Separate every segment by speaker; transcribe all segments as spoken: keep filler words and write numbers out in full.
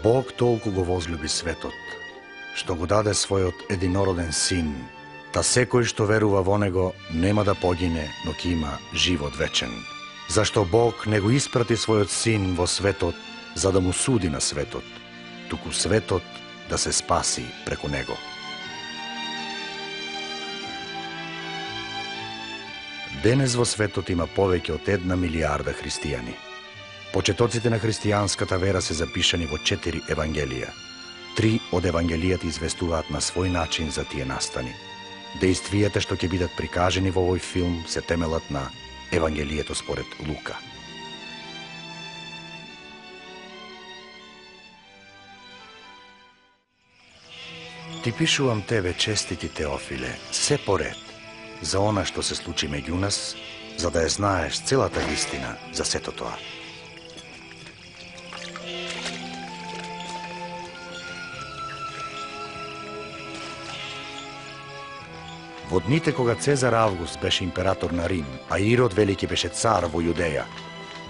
Speaker 1: Бог толку го возлюби светот, што го даде својот единороден син, та секој што верува во него нема да погине, но ќе има живот вечен. Зашто Бог не го испрати својот син во светот за да му суди на светот, туку светот да се спаси преку него. Денес во светот има повеќе од една милиарда христијани. Почетоците на христијанската вера се запишани во четири евангелија. Три од евангелијата известуваат на свој начин за тие настани. Дејствијата што ќе бидат прикажени во овој филм се темелат на Евангелието според Лука. Ти пишувам тебе, честити Теофиле, се поред, за она што се случи меѓу нас, за да ја знаеш целата вистина за сето тоа. Во дните кога Цезар Август беше император на Рим, а Ирод Велики беше цар во Јудеја,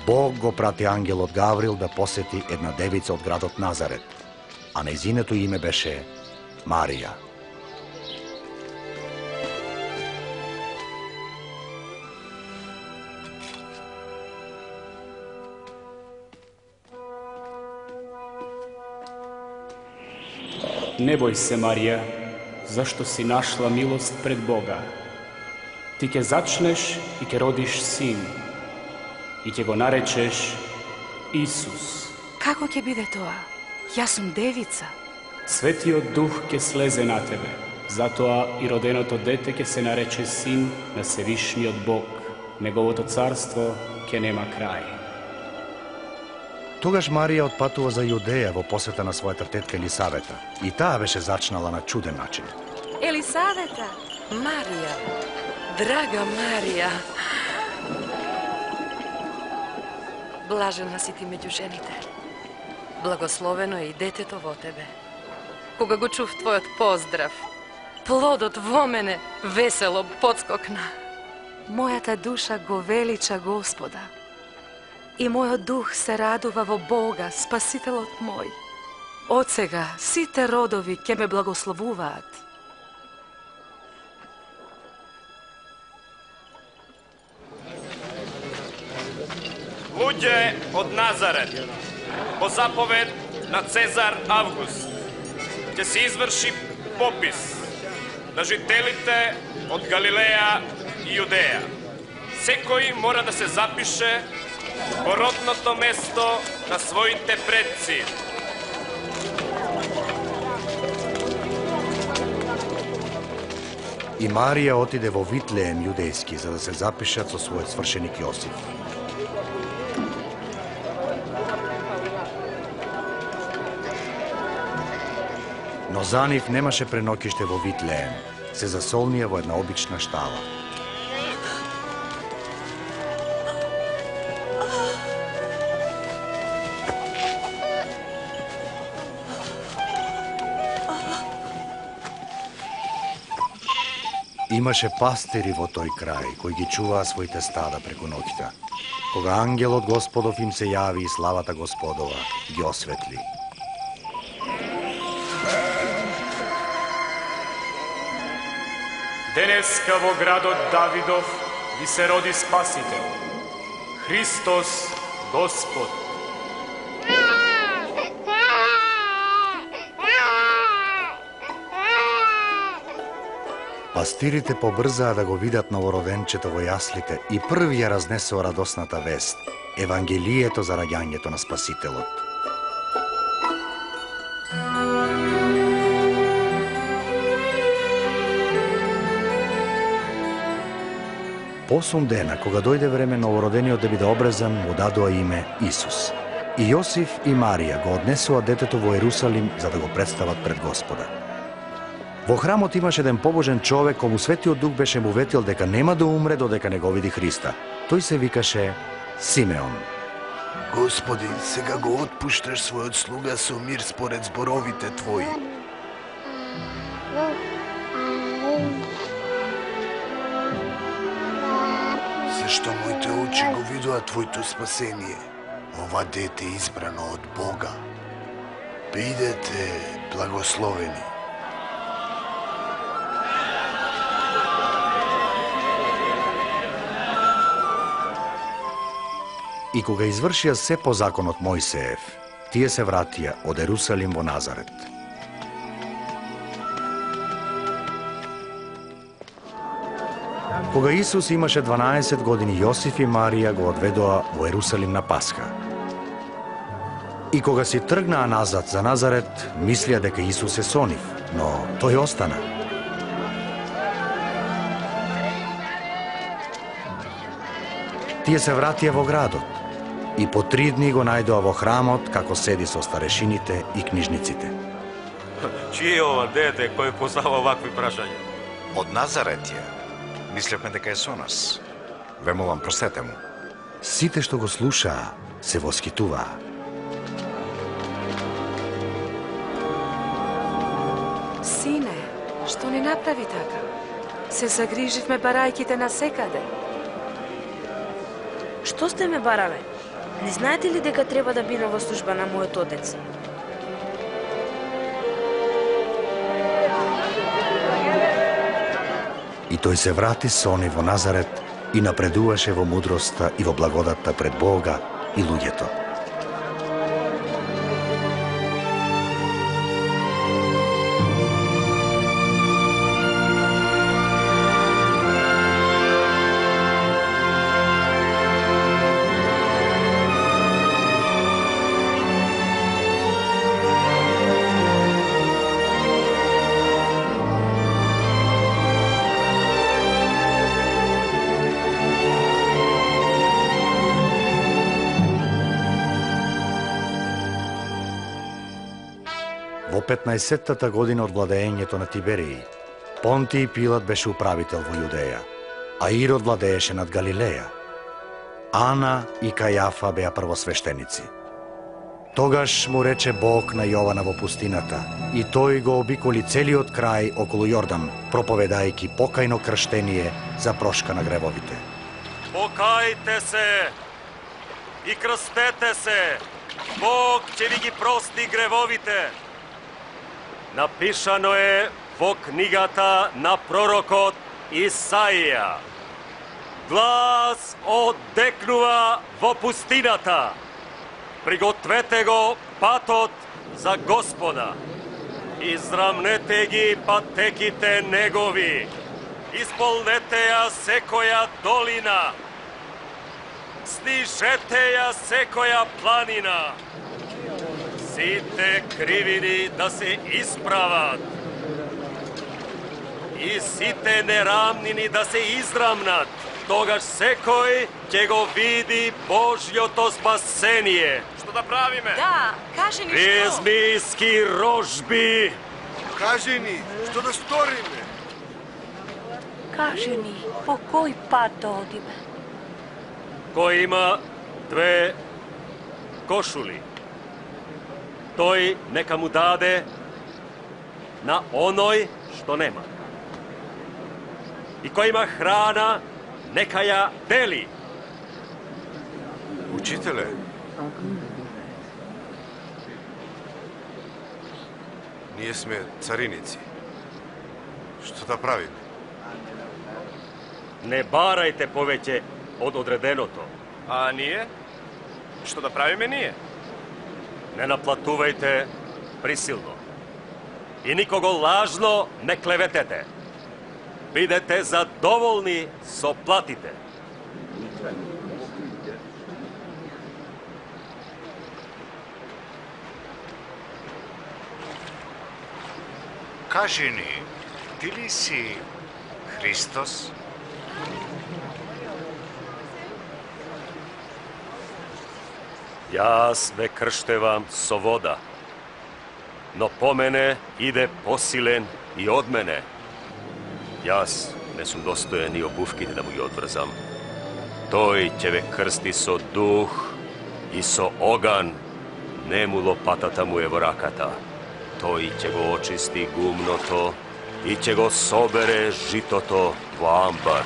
Speaker 1: Бог го прати ангелот Гаврил да посети една девица од градот Назарет, а нејзиното име беше Марија.
Speaker 2: Не бој се, Марија, зашто си нашла милост пред Бога. Ти ќе зачнеш и ќе родиш син, и ќе го наречеш Исус.
Speaker 3: Како ќе биде тоа? Јас сум девица.
Speaker 2: Светиот Дух ќе слезе на тебе, затоа и роденото дете ќе се нарече син на Севишниот Бог. Неговото царство ќе нема крај.
Speaker 1: Тогаш Марија отпатува за Јудеја во посета на својата тетка Елисавета. И таа беше зачнала на чуден начин.
Speaker 3: Елисавета!
Speaker 4: Марија, драга Марија, блажена си ти меѓу жените. Благословено е и детето во тебе. Кога го чув твојот поздрав, плодот во мене весело подскокна.
Speaker 3: Мојата душа го велича Господа и мојот дух се радува во Бога, Спасителот мој. Од сега сите родови ќе ме благословуваат.
Speaker 5: Луѓе од Назарет, по заповед на Цезар Август, ќе се изврши попис на жителите од Галилеја и Јудеја. Секој мора да се запише во родното место на своите предци.
Speaker 1: И Марија отиде во Витлеем јудејски за да се запишат со својот свршеник Јосиф. Но за нив немаше пренокиште во Витлеем, се засолнија во една обична штала. Имаше пастири во тој крај, кои ги чуваа своите стада преку ноќта. Кога ангелот Господов им се јави и славата Господова ги осветли.
Speaker 2: Денеска во градот Давидов ви се роди Спасител, Христос Господ.
Speaker 1: Пастирите побрзаа да го видат новороденчето во јаслите и први ја разнесоа радосната вест, Евангелието за раѓањето на Спасителот. Посум дена, кога дојде време новородениот да биде обрезан, му дадоа име Исус. И Јосиф и Марија го однесоа детето во Ерусалим за да го представат пред Господа. Во храмот имаше еден побожен човек кому Светиот Дух беше му ветил дека нема да умре додека не го види Христа. Тој се викаше Симеон.
Speaker 6: Господи, сега го отпушташ својот слуга со мир според зборовите Твои. Зашто моите очи го видоа Твоето спасение, ова дете избрано од Бога. Бидете благословени.
Speaker 1: И кога извршија се по законот Мојсеев, тие се вратија од Ерусалим во Назарет. Кога Исус имаше дванаесет години, Јосиф и Марија го одведоа во Ерусалим на Пасха. И кога си тргнаа назад за Назарет, мислија дека Исус е со нив, но тој остана. Тие се вратија во градот и по три дни го најдоа во храмот како седи со старешините и книжниците.
Speaker 7: Чие е ова дете кој поставува вакви прашања?
Speaker 8: Од Назарет е. Мислевме дека е со нас. Ве молам, простете му.
Speaker 1: Сите што го слушаа се воскитуваа.
Speaker 3: Сине, што не направи така? Се загриживме барајките на секаде.
Speaker 9: Што сте ме барале? Не знаете ли дека треба да бидам во служба на мојот отец?
Speaker 1: И тој се врати со нив во Назарет и напредуваше во мудроста и во благодатта пред Бога и луѓето. Во петнаесеттата година од владеењето на Тиберии, Понтиј Пилат беше управител во Јудеја, а Ирод владееше над Галилеја. Ана и Кајафа беа првосвештеници. Тогаш му рече Бог на Јована во пустината, и тој го обиколи целиот крај околу Јордан, проповедајќи покајно крштение за прошка на гревовите.
Speaker 7: Покајте се и крстете се, Бог ќе ви ги прости гревовите. Напишано е во книгата на пророкот Исаија. Глас оддекнува во пустината. Пригответе го патот за Господа. Израмнете ги патеките негови. Исполнете ја секоја долина. Снижете ја секоја планина. Сите кривини да се исправат и сите нерамнини да се израмнат. Тогаш секој ќе го види Божјото спасение.
Speaker 5: Што да правиме?
Speaker 9: Да, кажи ни што.
Speaker 7: Ризмиски рожби.
Speaker 6: Кажи ни, што да сториме?
Speaker 10: Кажи ни, по кој пат да одиме?
Speaker 7: Кој има две кошули, тој нека му даде на оној што нема. И кој има храна, нека ја дели.
Speaker 8: Учителе, ние сме цариници. Што да правиме?
Speaker 7: Не барајте повеќе од одреденото.
Speaker 5: А ние? Што да правиме ние?
Speaker 7: Не наплатувајте присилно. И никого лажно не клеветете. Бидете задоволни со платите.
Speaker 8: Кажи ни, ти ли си Христос?
Speaker 7: Јас ве крштевам со вода, но по мене иде посилен и од мене. Јас не сум достоен и обувките да му ги одврзам. Тој ќе ве крсти со дух и со оган, нему лопатата му е во раката. Тој ќе го очисти гумното и ќе го собере житото во амбар.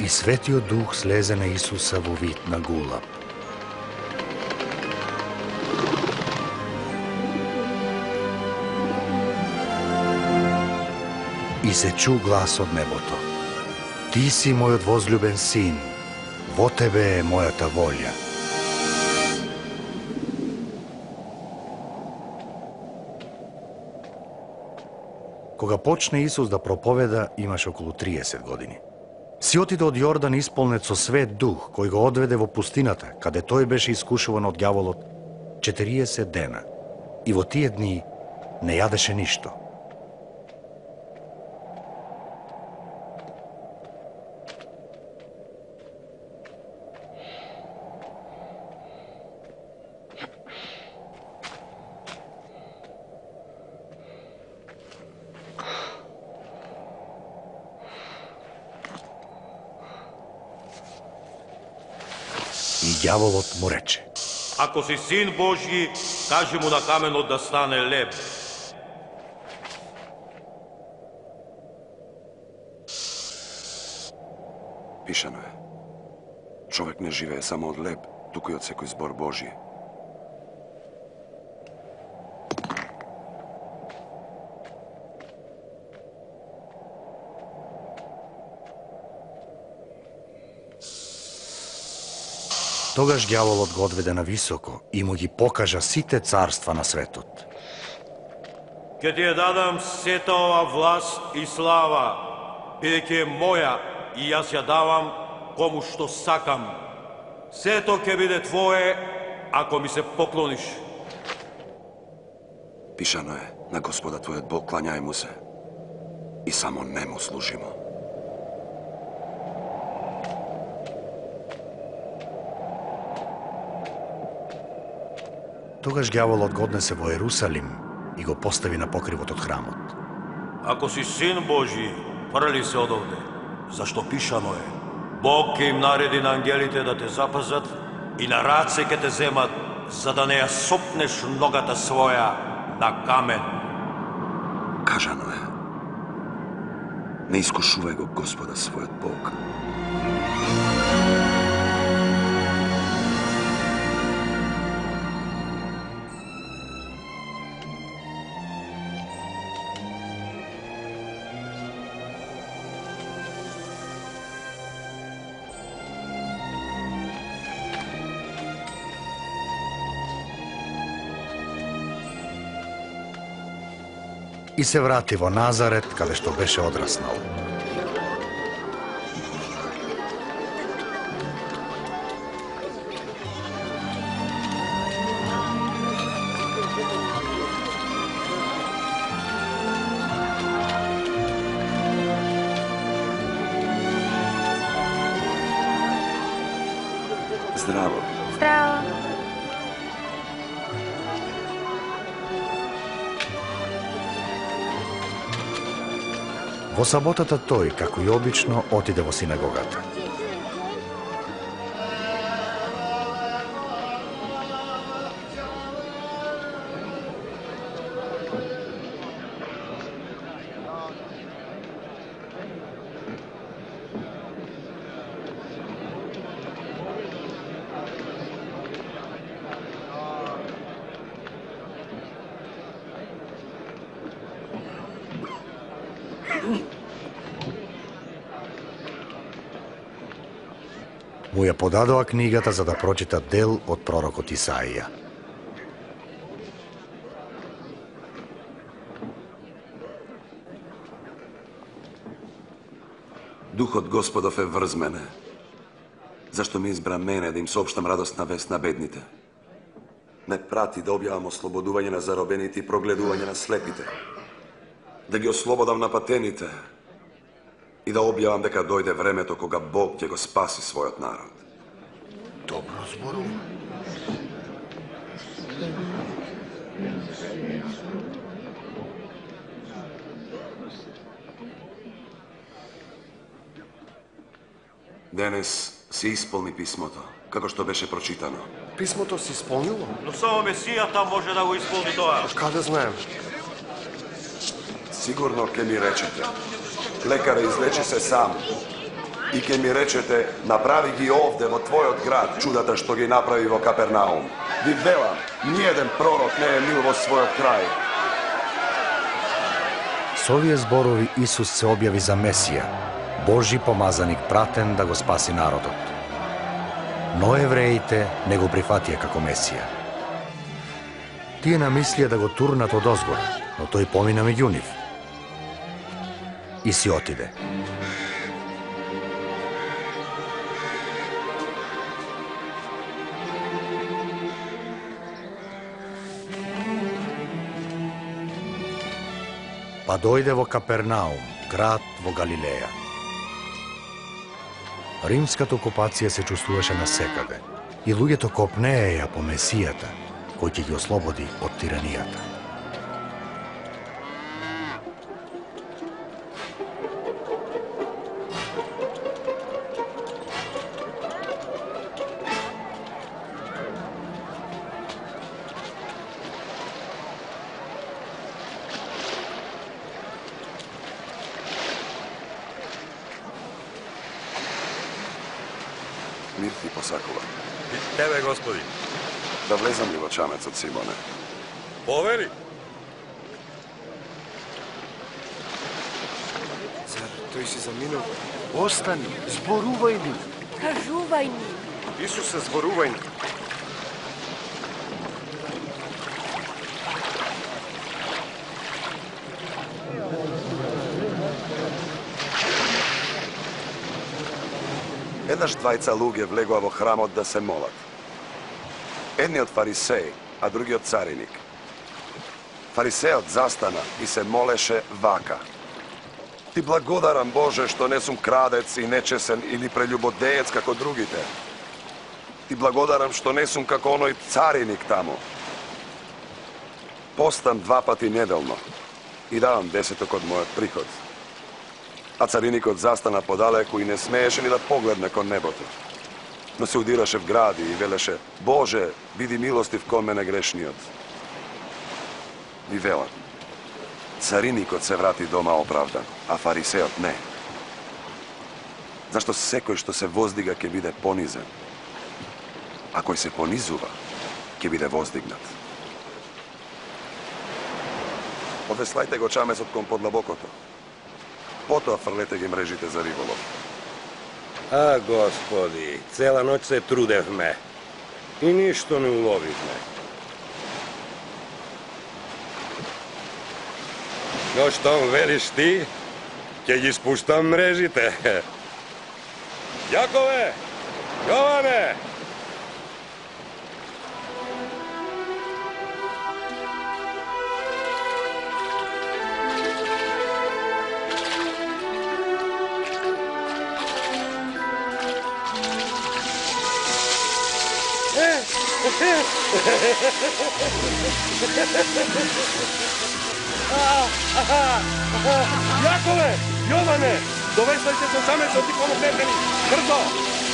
Speaker 1: И Светиот Дух слезе на Исуса во вид на гулаб. И се чу глас од небото. Ти си мојот возлюбен син, во тебе е мојата волја. Кога почне Исус да проповеда, имаше околу триесет години. Си отиде од Јордан исполнет со свет дух, кој го одведе во пустината, каде тој беше искушуван од ѓаволот четириесет дена. И во тие дни не јадеше ништо. И ѓаволот му рече:
Speaker 11: Ако си син Божји, кажи му на каменот да стане леб.
Speaker 12: Пишано е. Човек не живее само од леб, туку и од секој збор Божји.
Speaker 1: Тогаш ѓаволот го одведе на високо и му ги покажа сите царства на светот.
Speaker 11: Ке ти ја дадам сета ова власт и слава, бидејќи е моја и јас ја давам кому што сакам. Сето ќе биде твое, ако ми се поклониш.
Speaker 12: Пишано е, на Господа твојот Бог клањај му се и само нему служимо.
Speaker 1: Тогаш ѓаволот го однесе во Ерусалим и го постави на покривот од храмот.
Speaker 11: Ако си син Божји, фрли се одовде, зашто пишано е: Бог ќе им нареди на ангелите да те запазат и на раце ќе те земат, за да не ја сопнеш ногата своја на камен.
Speaker 12: Кажано е: не искушувај го Господа својот Бог.
Speaker 1: И се врати во Назарет, каде што беше одраснал.
Speaker 12: Здраво.
Speaker 9: Здраво.
Speaker 1: Во саботата тој, како и обично, отиде во синагогата. Му ја подадоа книгата за да прочита дел од пророкот Исаија.
Speaker 12: Духот Господов е врз мене, зашто ми избра мене да им соопштам радостна вест на бедните. Ме прати да објавам ослободување на заробените и прогледување на слепите, да ги ослободам на патените и да објавам дека дојде времето кога Бог ќе го спаси својот народ.
Speaker 6: Добро зборува.
Speaker 12: Денес се исполни писмото, како што беше прочитано.
Speaker 6: Писмото се исполнило?
Speaker 11: Но само Месијата може да го исполни тоа.
Speaker 6: Каде знаем?
Speaker 12: Сигурно ќе ми речете: лекаре, излечи се сам. и ке ми речете, направи ги овде во твојот град, чудата што ги направи во Капернаум. Ви велам, ниеден пророк не е мил во својот крај.
Speaker 1: Со овие зборови Исус се објави за Месија, Божи помазаник пратен да го спаси народот. Но евреите не го прифатија како Месија. Тие намислија да го турнат од озгора, но тој помина меѓу нив и си отиде. Па дојде во Капернаум, град во Галилеја. Римската окупација се чувствуваше насекаде и луѓето копнееја по Месијата, кој ќе ги ослободи од тиранијата.
Speaker 12: Мир ти посакува.
Speaker 13: И тебе, Господи.
Speaker 12: Да влезам ли во чамецот, Симоне?
Speaker 13: Повери.
Speaker 6: Зар тој си заминал? Остани, зборувај ни.
Speaker 10: Кажувај ни.
Speaker 13: Исусе, зборувај ни.
Speaker 12: Еднаш двајца луѓе влегоа во храмот да се молат. Едниот фарисеј, а другиот цариник. Фарисејот застана и се молеше вака: Ти благодарам, Боже, што не сум крадец и нечесен или прелюбодеец како другите. Ти благодарам што не сум како оној цариник таму. Постам два пати неделно и давам десеток од мојот приход. А цариникот застана подалеку и не смееше ни да погледне кон небото. Но се удираше в гради и велеше: Боже, биди милостив кон мене грешниот. Ви велам, цариникот се врати дома оправдан, а фарисеот не. Зашто секој што се воздига ќе биде понизен, а кој се понизува ќе биде воздигнат. Одеслајте го чамецот кон подлабокото. Потоа фрлете ги мрежите за риболов.
Speaker 13: А, Господи, цела ноќ се трудевме и ништо не уловивме. Но штом велиш ти, ќе ги спуштам мрежите. Јакове! Јоване! Јакове! Јоване! Довесвајте со чамецот и помогнете ни! Брзо!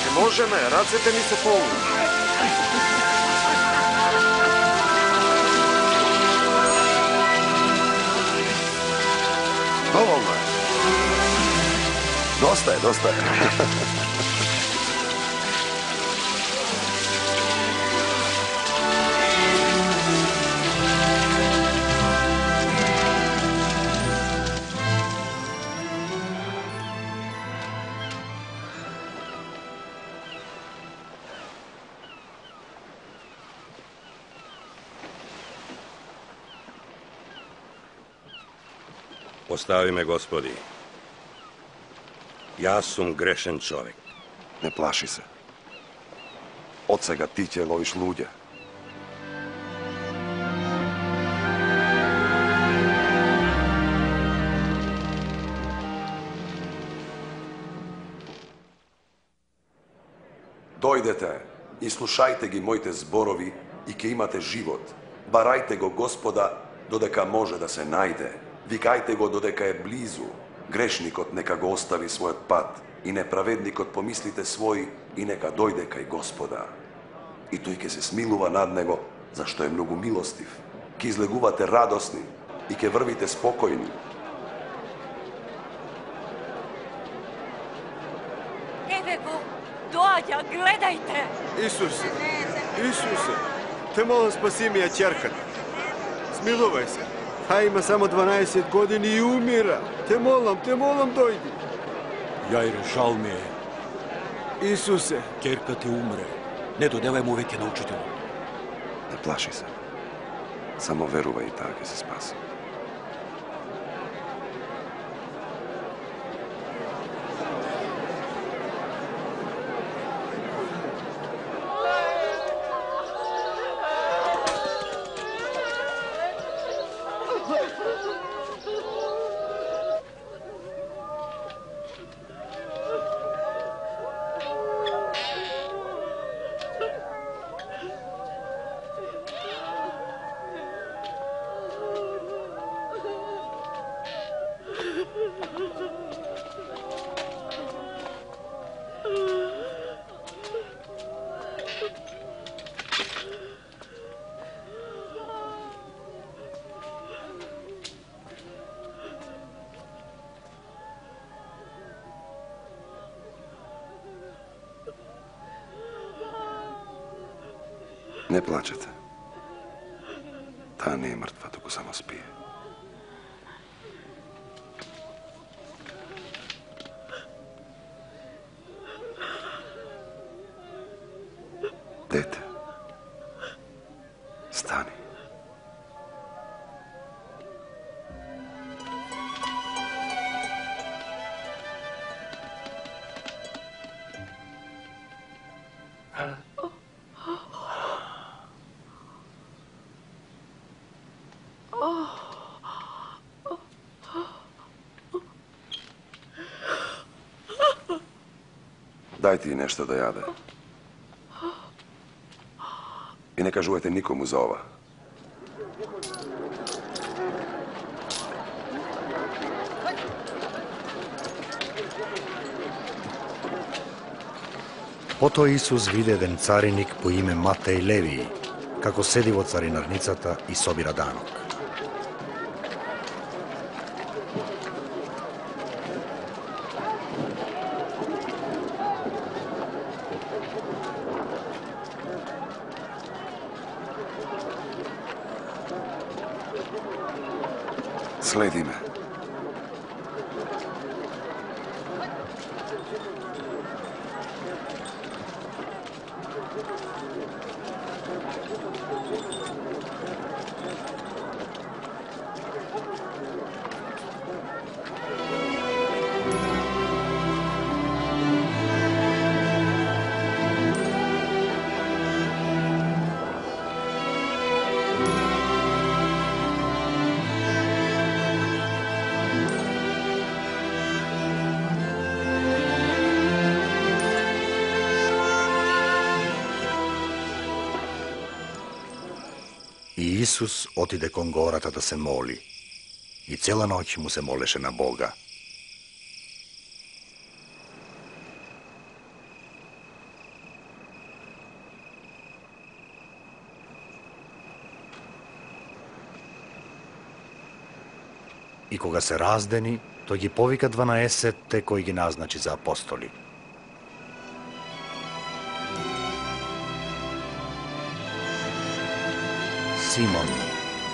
Speaker 6: Не можеме, рацете ни се полни.
Speaker 12: Доволно е. Доста е, доста е.
Speaker 13: Остави ме, Господи. Јас сум грешен човек.
Speaker 12: Не плаши се. Од сега ти ќе ловиш луѓе. Дојдете и слушајте ги моите зборови и ќе имате живот. Барајте го Господа додека може да се најде. Викајте го додека е близу. Грешникот нека го остави својот пат и неправедникот помислите свој и нека дојде кај Господа. И тој ќе се смилува над него, зашто е многу милостив. Ќе излегувате радосни и ќе врвите спокојни.
Speaker 10: Марија, гледајте!
Speaker 14: Исусе, Исусе, те молам спаси ми ја ќерката. Смилувај се. Таа има само дванаесет години и умира. Те молам, те молам, дојди.
Speaker 11: Јајре, жал ми е.
Speaker 14: Исусе.
Speaker 11: Ќерка ти умре. Не додевај му веќе на учителот.
Speaker 12: Не плаши се. Само верувај и таа ќе се спаси. Не плачете. Таа не е мртва, туку само спие. Дете, стани. Дајте и нешто да јаде. И не кажувајте никому за ова.
Speaker 1: Потоа Исус виде еден цариник по име Матеј Левиј, како седи во царинарницата и собира данок.
Speaker 12: Следи ме.
Speaker 1: И Исус отиде кон гората да се моли. И цела ноќ му се молеше на Бога. И кога се раздени, тој ги повика дванаесетте кои ги назначи за апостоли. Симон,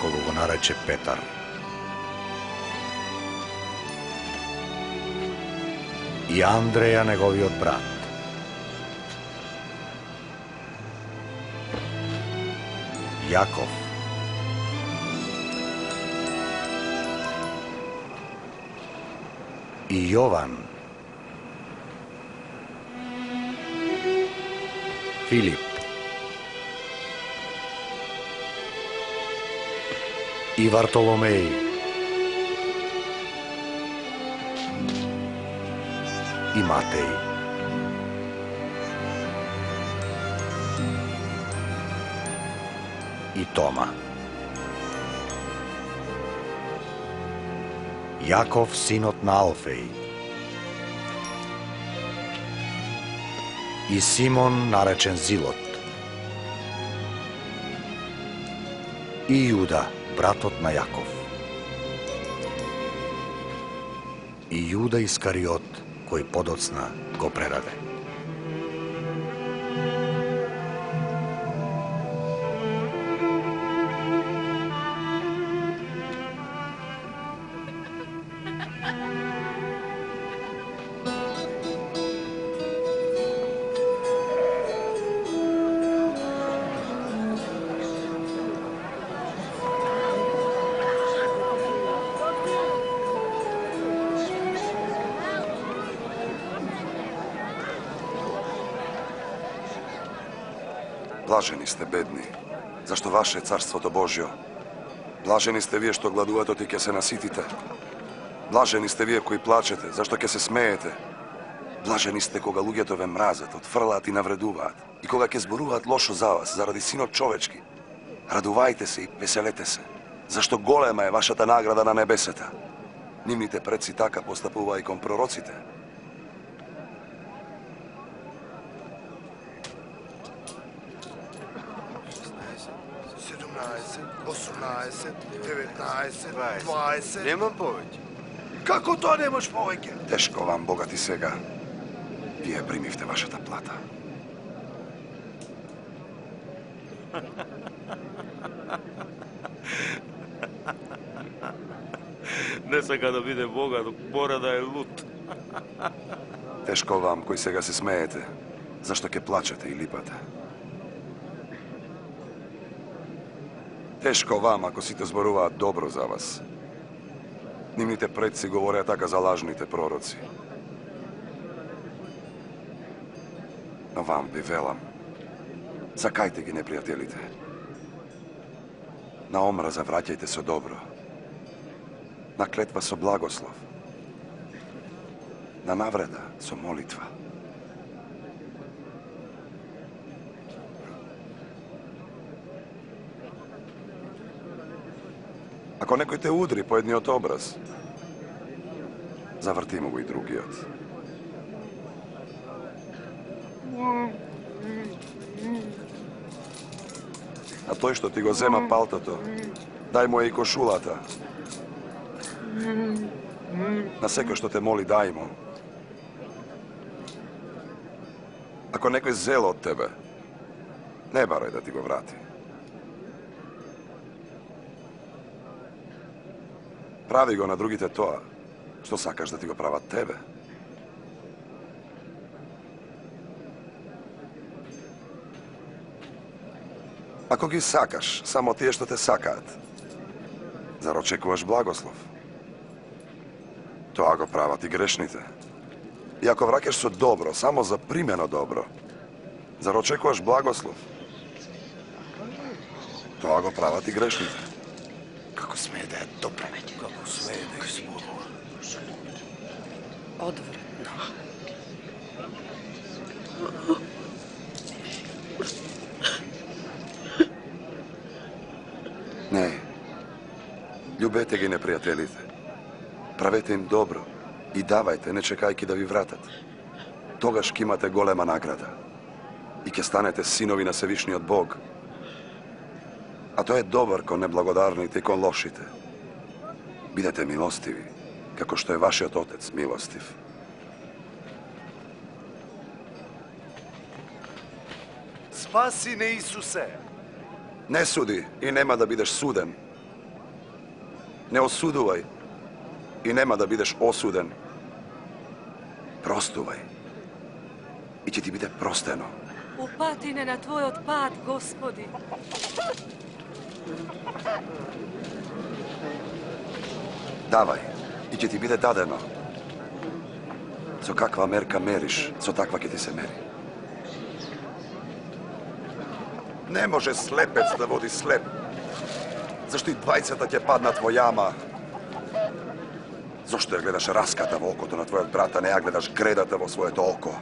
Speaker 1: кога го нарече Петар. И Андреја, неговиот брат. Јаков. И Јован. Филип. И Вартоломеј. И Матеј. И Тома. Јаков, синот на Алфеј. И Симон, наречен Зилот. И Јуда, братот на Јаков. И Јуда Искариот, кој подоцна го предаде.
Speaker 12: Блажени сте бедни, зашто ваше е царството Божјо. Блажени сте вие што гладувате и ќе се наситите. Блажени сте вие кои плачете, зашто ќе се смеете. Блажени сте кога луѓето ве мразат, отфрлаат и навредуваат, и кога ќе зборуваат лошо за вас заради синот човечки. Радувајте се и веселете се, зашто голема е вашата награда на небесата. Нивните предци така постапуваа и кон пророците.
Speaker 6: осумнаесет, деветнаесет, дваесет.
Speaker 14: Немам повеќе.
Speaker 6: Како тоа немаш повеќе?
Speaker 12: Тешко вам, богати сега. Вие примивте вашата плата.
Speaker 11: Не сака да биде богат, мора да е лут.
Speaker 12: Тешко вам, кои сега се смеете, зашто ќе плачете и липате. Тешко вам, ако сите зборуваат добро за вас. Нивните предци говореа така за лажните пророци. Но вам ви велам, сакајте ги непријателите. На омраза враќајте со добро. На клетва со благослов. На навреда со молитва. Ако некој те удри по едниот образ, заврти му го и другиот. А тој што ти го зема палтото, дај му е и кошулата. На секој што те моли, дај му. Ако некој зел од тебе, не барај да ти го врати. Прави го на другите тоа, што сакаш да ти го прават тебе. Ако ги сакаш, само тие што те сакаат, зар очекуваш благослов? Тоа го прават и грешните. И ако враќаш со добро, само за примено добро, зар очекуваш благослов? Тоа го прават и грешните.
Speaker 6: Како смее да е добро? Како смее да е зборува?
Speaker 4: Одвратно.
Speaker 12: Не. Љубете ги непријателите. Правете им добро и давајте, не чекајки да ви вратат. Тогаш ќе имате голема награда и ќе станете синови на Севишниот Бог. А тој е добар кон неблагодарните и кон лошите. Бидете милостиви, како што е вашиот Отец милостив.
Speaker 6: Спаси не Исусе!
Speaker 12: Не суди и нема да бидеш суден. Не осудувај и нема да бидеш осуден. Простувај и ќе ти биде простено.
Speaker 3: Упати не на Твојот пат, Господи.
Speaker 12: Давај и ќе ти биде дадено. Со каква мерка мериш, со таква ќе ти се мери. Не може слепец да води слеп. Зашто и двајцата ќе паднат во јама. Зошто ја гледаш раската во окото на твојот брат, а не ја гледаш гредата во своето око?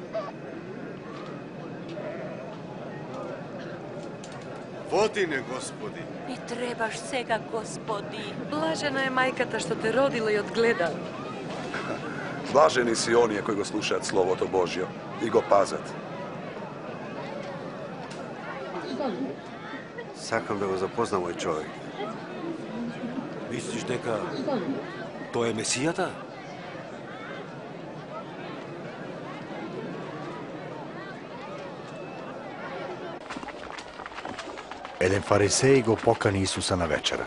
Speaker 14: Води не, Господи.
Speaker 10: Ни требаш сега, Господи.
Speaker 3: Блажена е мајката што те родила и одгледа.
Speaker 12: Блажени си оние кои го слушаат Словото Божјо и го пазат.
Speaker 14: Сакам да го запознам овој човек.
Speaker 11: Мислиш дека тој е Месијата?
Speaker 1: Еден фарисеј го покани Исуса на вечера.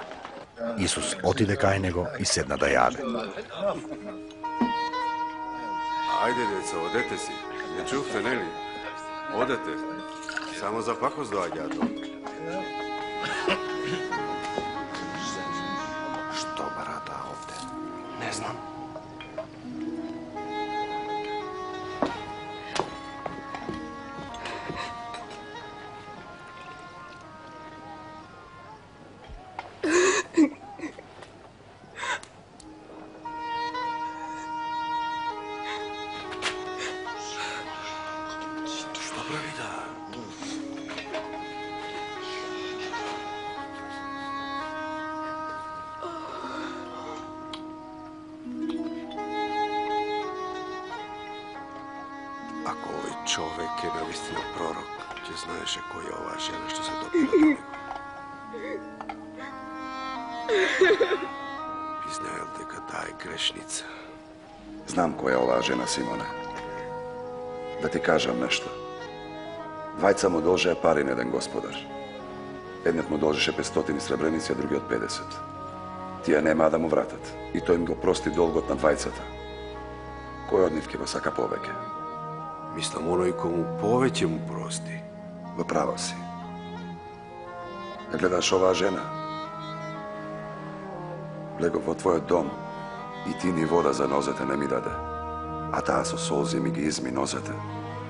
Speaker 1: Исус отиде кај него и седна да јаде.
Speaker 14: Ајде, деца, одете си. Не чувте, нели? Одете. Само за пакост доаѓаат овде.
Speaker 6: Што барата овде? Не знам. Ако овој човек е навистина пророк, ќе знаеше која е оваа жена што се допира до него. Би знаел дека таа е грешница.
Speaker 12: Знам која е оваа жена, Симоне. Да ти кажам нешто. Двајца му должеа пари на еден господар. Едниот му должеше петстотини сребреници, а другиот педесет. Тие немаа да му вратат. И тој им го прости долгот на двајцата. Кој од нив ќе го сака повеќе?
Speaker 6: Мислам, оној кому повеќе му прости.
Speaker 12: Во право си. Да гледаш оваа жена? Легов во твојот дом и ти ни вода за нозете не ми даде. А таа со солзи ми ги изми нозете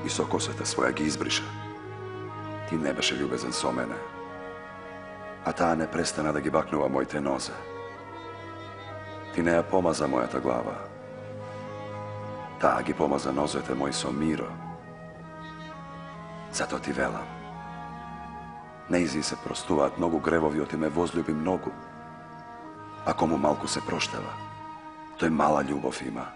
Speaker 12: и со косата своја ги избриша. Ти не беше љубезен со мене. А таа не престана да ги бакнува моите нозе. Ти не ја помаза мојата глава. Таа ги помаза нозете мои со миро. Зато ти велам. Неизи се простуваат многу гревови, оти ме возлюби многу. А кому малку се проштева, тој мала љубов има.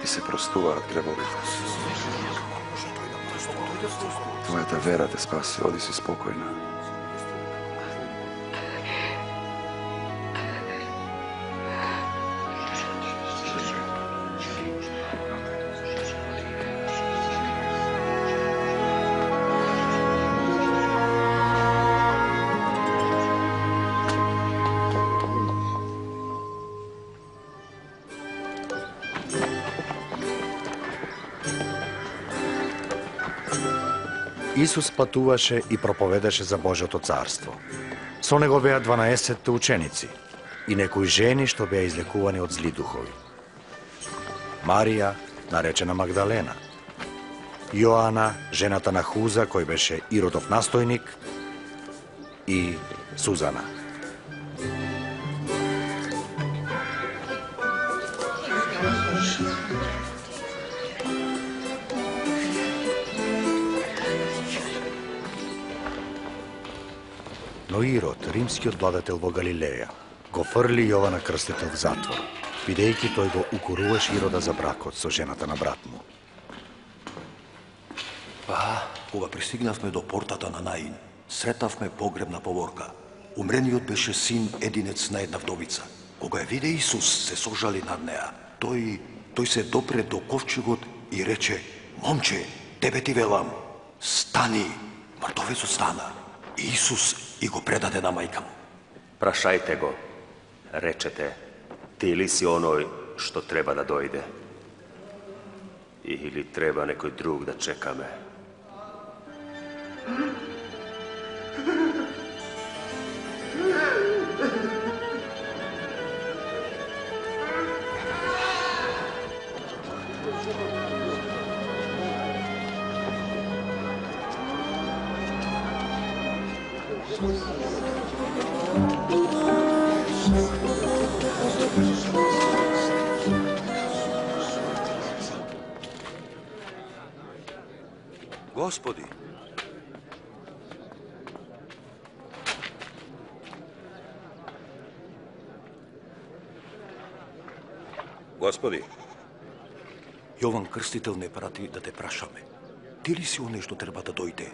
Speaker 12: Ти се простуваат гревовите. Твојата вера те спаси, оди си спокојна.
Speaker 1: Исус патуваше и проповедаше за Божјото царство. Со него беа дванаесетте ученици и некои жени што беа излекувани од зли духови. Марија, наречена Магдалена, Јоана, жената на Хуза, кој беше Иродов настојник, и Сузана. Но Ирод, римскиот владетел во Галилеја, го фрли Јована Крстител в затвор, бидејќи тој го укоруваше Ирода за бракот со жената на брат му.
Speaker 11: Па, кога пристигнавме до портата на Наин, сретавме погребна поворка. Умрениот беше син единец на една вдовица. Кога ја виде Исус, се сожали над неа. Тој, тој се допре до ковчегот и рече: "Момче, тебе ти велам, стани!" Мртовецот стана. И Исус и го предаде на мајка му.
Speaker 7: Прашајте го, речете, ти ли си оној што треба да дојде? Или треба некој друг да чекаме?
Speaker 11: Господи,
Speaker 13: Господи,
Speaker 11: Јован Крстител не прати да те прашаме. Ти ли си оној што треба да дојде?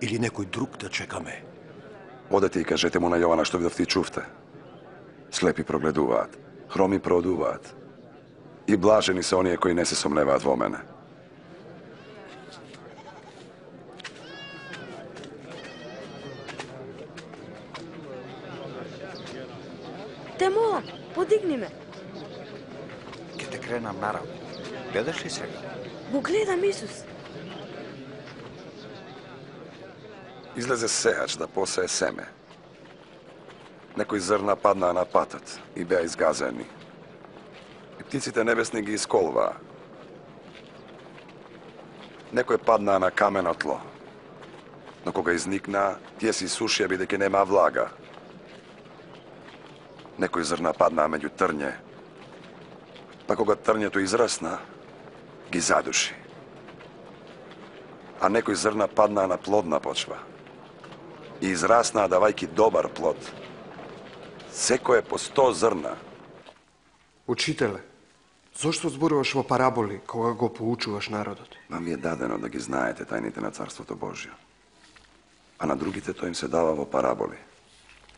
Speaker 11: Или некој друг да чекаме?
Speaker 12: Одете и кажете му на Јована што видовте и чувте. Слепи прогледуваат, хроми проодуваат. И блажени се оние кои не се сомневаат во мене.
Speaker 9: Те молам, подигни ме.
Speaker 8: Ке те кренам нараво. Гледаш ли сега?
Speaker 9: Го гледам Исус.
Speaker 12: Излезе сеач да посее семе. Некои зрна паднаа на патот и беа изгазени. И птиците небесни ги исколваа. Некои паднаа на камено тло. Но кога изникнаа, тие се исушија бидејќи немаа влага. Некои зрна паднаа меѓу трње. Па кога трњето израсна, ги задуши. а некои зрна паднаа на плодна почва и израснаа давајки добар плод. Секое по сто зрна.
Speaker 14: Учителе, зошто зборуваш во параболи кога го поучуваш народот?
Speaker 12: Вам ви е дадено да ги знаете тајните на Царството Божјо, а на другите тој им се дава во параболи.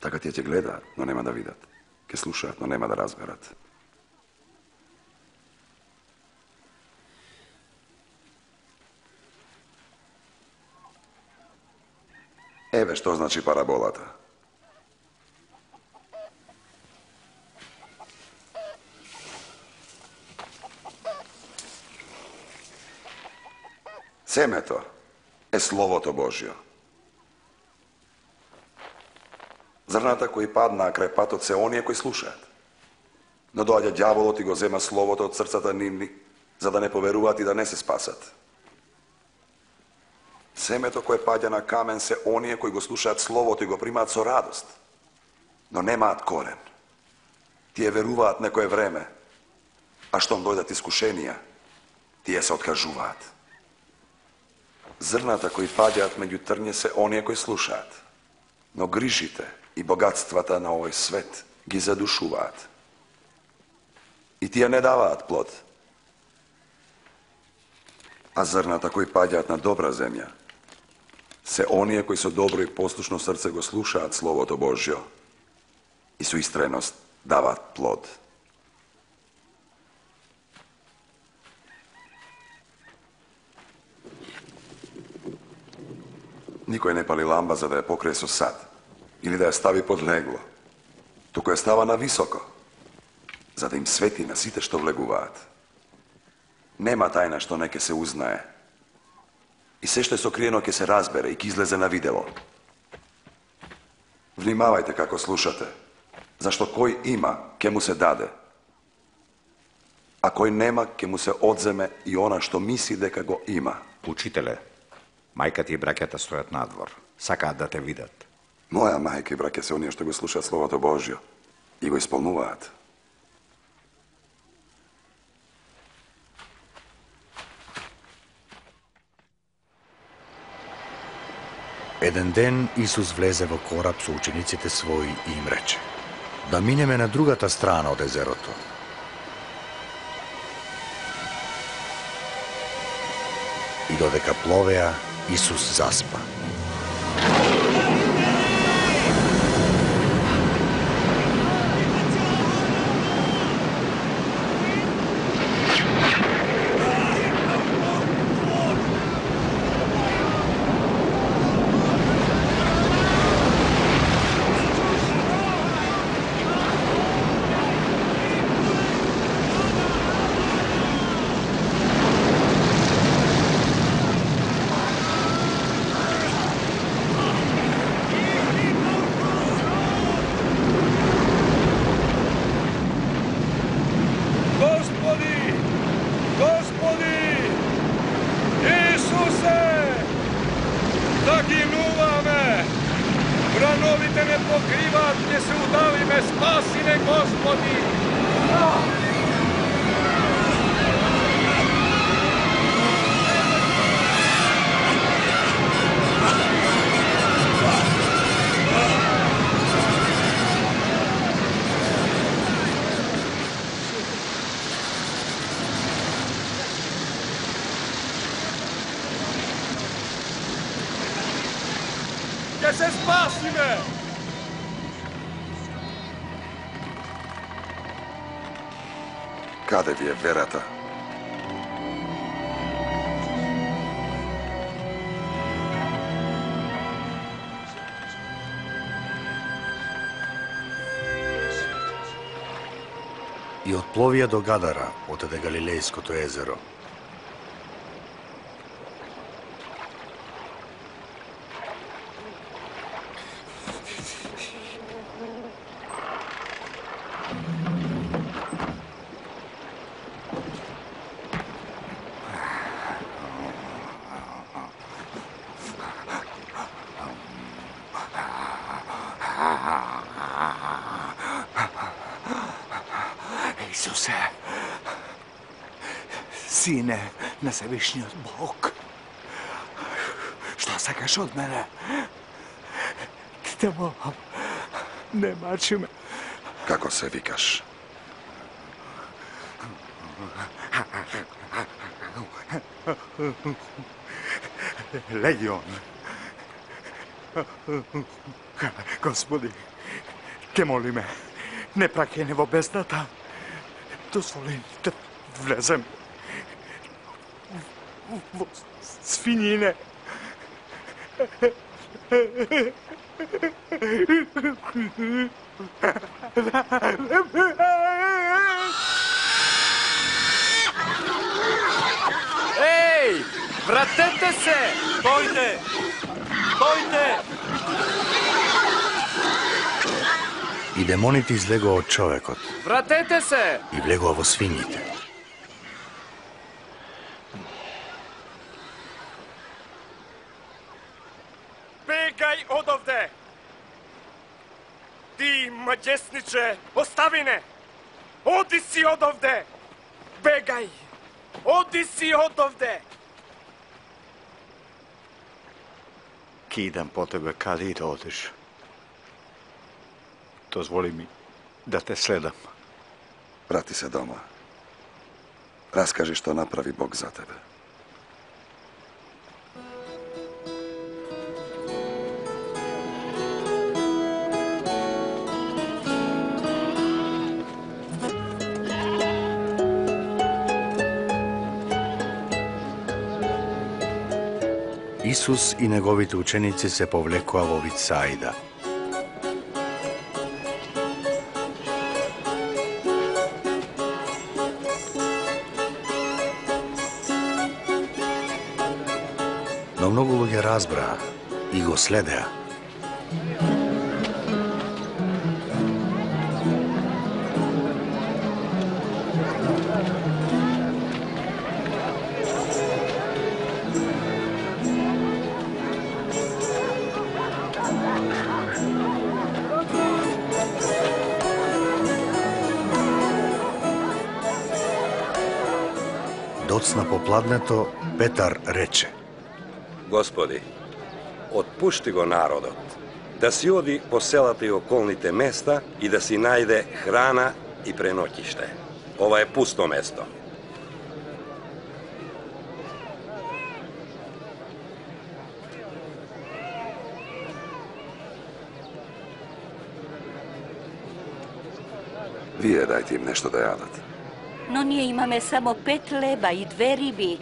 Speaker 12: Така тие ќе гледаат, но нема да видат. Ќе слушаат, но нема да разберат. Еве што значи параболата. Семето е Словото Божјо. Зрната кои паднаа крај патот се оние кои слушаат. Но доаѓа ѓаволот и го зема Словото од срцата нивни, за да не поверуваат и да не се спасат. Семето кое паѓа на камен се оние кои го слушаат Словото и го примаат со радост, но немаат корен. Тие веруваат некое време, а штом дојдат искушенија, тие се откажуваат. Зрната кои паѓаат меѓу трње се оние кои слушаат, но грижите и богатствата на овој свет ги задушуваат. И тие не даваат плод. А зрната кои паѓаат на добра земја се оние кои со добро и послушно срце го слушаат Словото Божјо и со истреност даваат плод. Никој не пали ламба за да ја покрие со сад или да ја стави под легло, туку ја става на високо, за да им свети на сите што влегуваат. Нема тајна што не ќе се узнае. И се што е сокриено ќе се разбере и ќе излезе на видело. Внимавајте како слушате, зашто кој има, ќе му се даде, а кој нема, ќе му се одземе и она што мисли дека го има.
Speaker 8: Учителе, мајката и браќата стојат надвор. Сакаат да те видат.
Speaker 12: Моја мајка и браќа се оние што го слушаат Словото Божјо и го исполнуваат.
Speaker 1: Еден ден Исус влезе во кораб со учениците своји и им рече: да минеме на другата страна од езерото. И додека пловеа, Исус заспа.
Speaker 15: Ќе се спасиме!
Speaker 12: Каде ви е верата?
Speaker 1: И отпловија до Гадара, отеде Галилејското езеро.
Speaker 16: Исусе, Сине на Севишниот Бог, сакаш од мене? Те молам, не мачи ме.
Speaker 12: Како се викаш?
Speaker 16: Легион. Господи, те молиме, не праќај не во бездната. Дозволи да влезем во свинине.
Speaker 15: Еј, вратете се!
Speaker 11: Дојде! Дојде!
Speaker 1: И демоните излегоа од човекот
Speaker 15: Вратете се!
Speaker 1: и влегоа во свињите.
Speaker 15: Бегај одовде! Ти, маđесниче, остави не! Оди си одовде! Бегај! Оди си одовде!
Speaker 16: Ки идам по тебе, каде и да одиш. Дозволи ми да те следам.
Speaker 12: Врати се дома. Раскажи што направи Бог за тебе.
Speaker 1: Исус и неговите ученици се повлекоа во Витсаида. Но многу луѓе разбраа и го следеа. Доцна попладнето, Петар рече:
Speaker 13: Господи, отпушти го народот, да си оди по селата и околните места и да си најде храна и преноќиште. Ова е пусто место.
Speaker 12: Вие дајте им нешто да јадат.
Speaker 10: Но ние имаме само пет леба и две риби.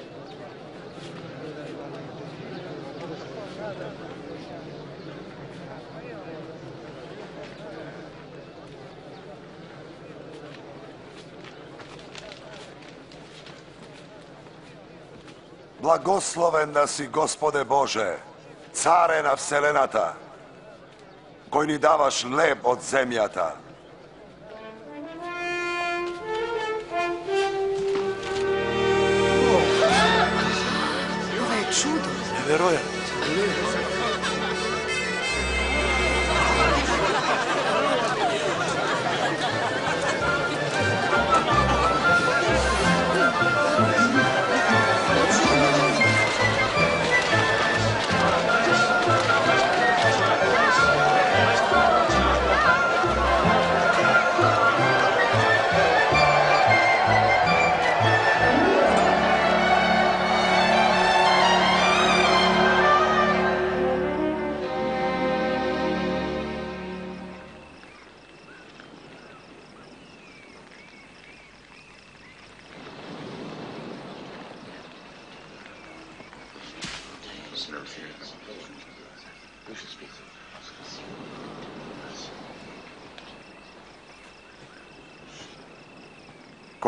Speaker 12: Благословен да си, Господе Боже, царе на вселената, кој ни даваш леб од земјата.
Speaker 3: Ова е чудо.
Speaker 12: Неверојатно.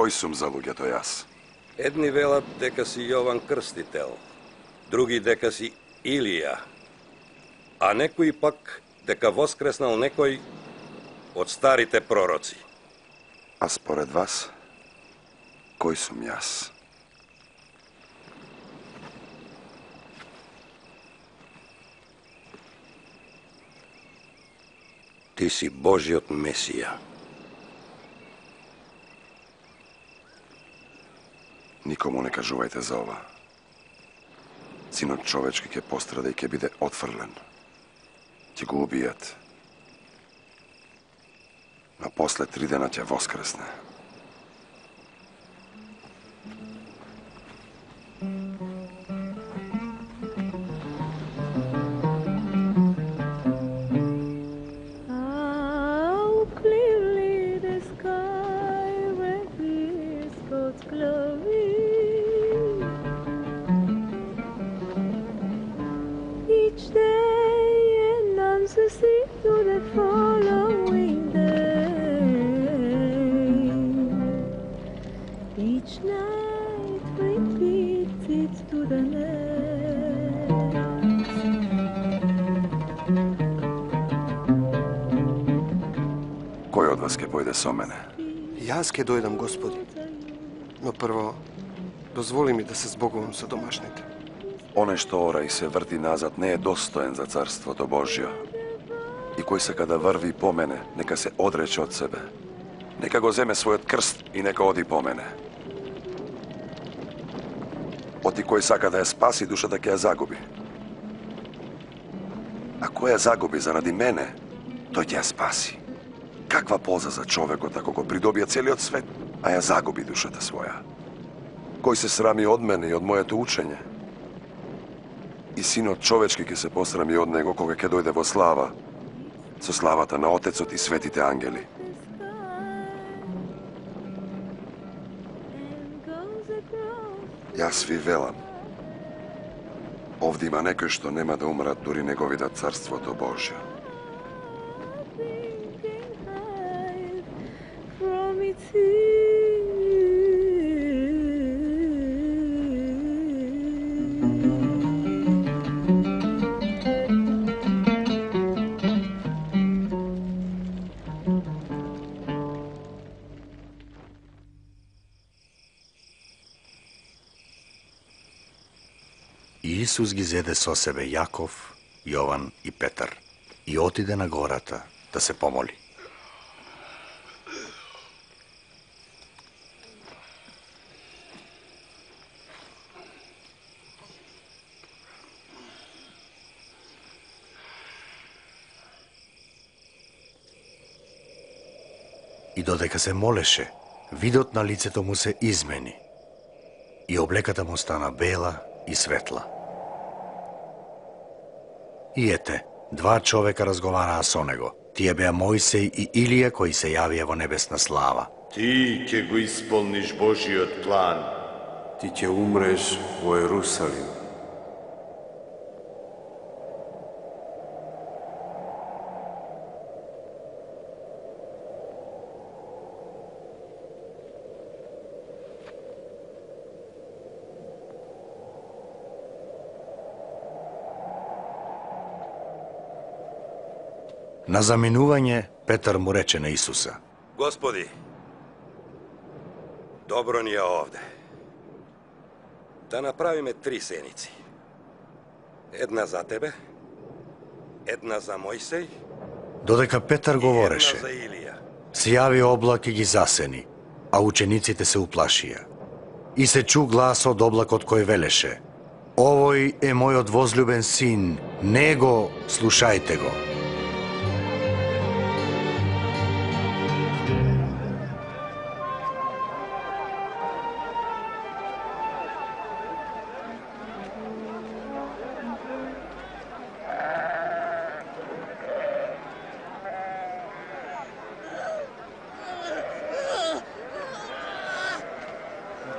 Speaker 12: Кој сум за луѓето јас?
Speaker 13: Едни велат дека си Јован Крстител, други дека си Илија, а некои пак дека воскреснал некој од старите пророци.
Speaker 12: А според вас, кој сум јас?
Speaker 13: Ти си Божиот Месија.
Speaker 12: Никому не кажувајте за ова. Синот човечки ќе пострада и ќе биде отфрлен. Ќе го убијат. Но после три дена ќе воскресне. Кој од вас ќе појде со мене?
Speaker 17: Јас ќе дојдам, Господи. Но прво, дозволи ми да се збогувам со домашните.
Speaker 12: Оне што ора и се врти назад не е достоен за Царството Божјо. И кој сака да врви по мене, нека се одрече од себе. Нека го земе својот крст и нека оди по мене. Оти кој сака да ја спаси, душата ќе ја загуби. А кој ја загуби заради мене, тој ќе ја спаси. Каква полза за човекот ако го придобија целиот свет, а ја загуби душата своја? Кој се срами од мене и од моето учење? И Синот човечки ќе се посрами од него кога ќе дојде во слава, со славата на Отецот и светите ангели. Јас ви велам, овде има некои што нема да умрат дури не го видат Царството Божјо.
Speaker 1: Исус ги зеде со себе Јаков, Јован и Петар и отиде на гората да се помоли. И додека се молеше, видот на лицето му се измени и облеката му стана бела и светла. И ете, два човека разговараа со него. Тие беа Мојсей и Илија кои се јавија во небесна слава.
Speaker 18: Ти ќе го исполниш Божиот план.
Speaker 14: Ти ќе умреш во Ерусалим.
Speaker 1: На заминување, Петар му рече на Исуса:
Speaker 13: Господи, добро ни е овде. Да направиме три сеници. Една за тебе, една за Мојсей,
Speaker 1: Додека Петар говореше,
Speaker 13: една за Илија.
Speaker 1: се јави облак и ги засени, а учениците се уплашија. И се чу глас од облакот кој велеше: Овој е мојот возлюбен син, него слушајте го.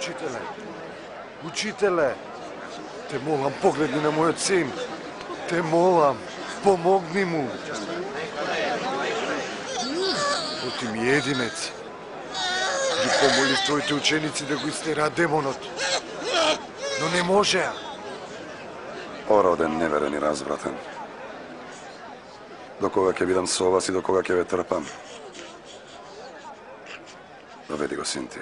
Speaker 14: Учителе, учителе, те молам, погледни на мојот син. Те молам, помогни му. Оти ми единец. Ги помоли твоите ученици да го истераат демонот. Но не можеа.
Speaker 12: Ороден, неверен и развратен. До кога ќе бидам со вас и до кога ќе ве трпам? Доведи го син ти.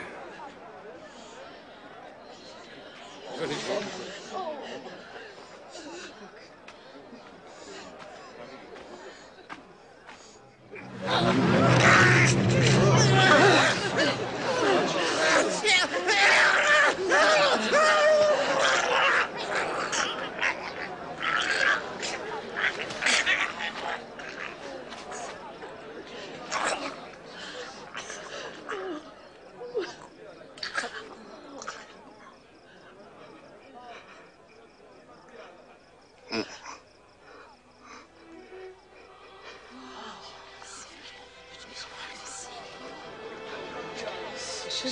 Speaker 14: И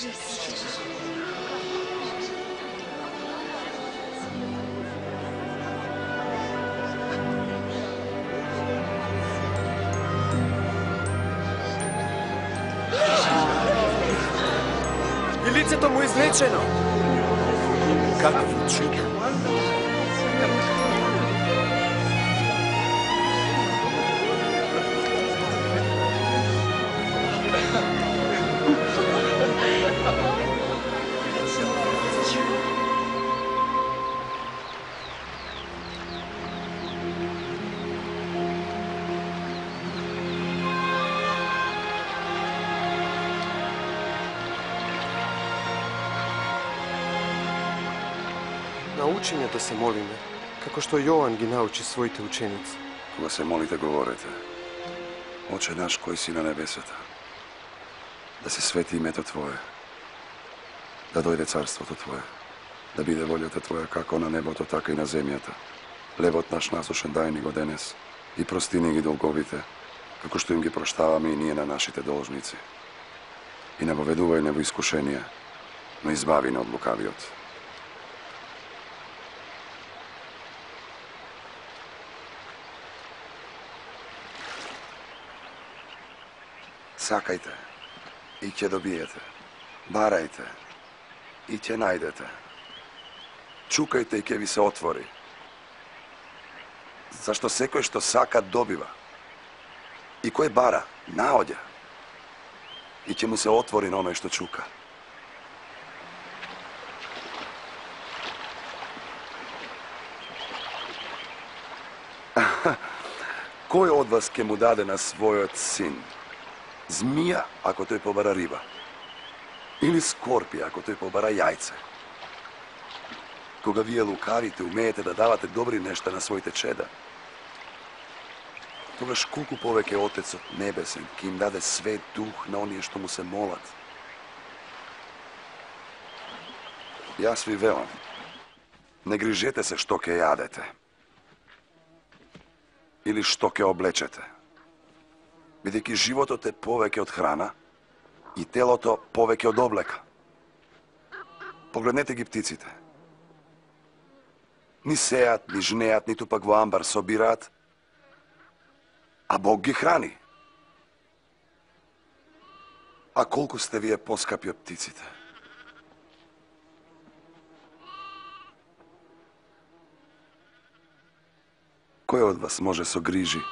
Speaker 14: лицето му излечено.
Speaker 17: Какво чудо! Научиме да се молиме, како што Јован ги научи своите ученици.
Speaker 12: Кога се молите, говорете: Оче наш кој си на небесата, да се свети името Твое, да дојде царството Твое, да биде волјата Твоја како на небото, така и на земјата. Левот наш насушен дај ни го денес и прости ни ги долговите, како што им ги проштаваме и ние на нашите должници. И не воведувај не во искушение, но избави не од лукавиот. Сакајте и ќе добиете. Барајте и ќе најдете. Чукајте и ќе ви се отвори. Зашто секој што сака добива. И кој бара, наоѓа. И ќе му се отвори на оној што чука. Кој од вас ќе му даде на својот син змија, ако тој побара риба? Или скорпија, ако тој побара јајце? Кога вие лукавите, умеете да давате добри нешта на своите чеда, тогаш колку повеќе Отецот Небесен ќе им даде свет дух на оние што му се молат. Јас ви велам, не грижете се што ќе јадете или што ќе облечете, бидејќи животот е повеќе од храна и телото повеќе од облека. Погледнете ги птиците. Ни сеат, ни жнеат, ниту пак во амбар собираат, а Бог ги храни. А колку сте вие поскапи од птиците? Кој од вас може со грижи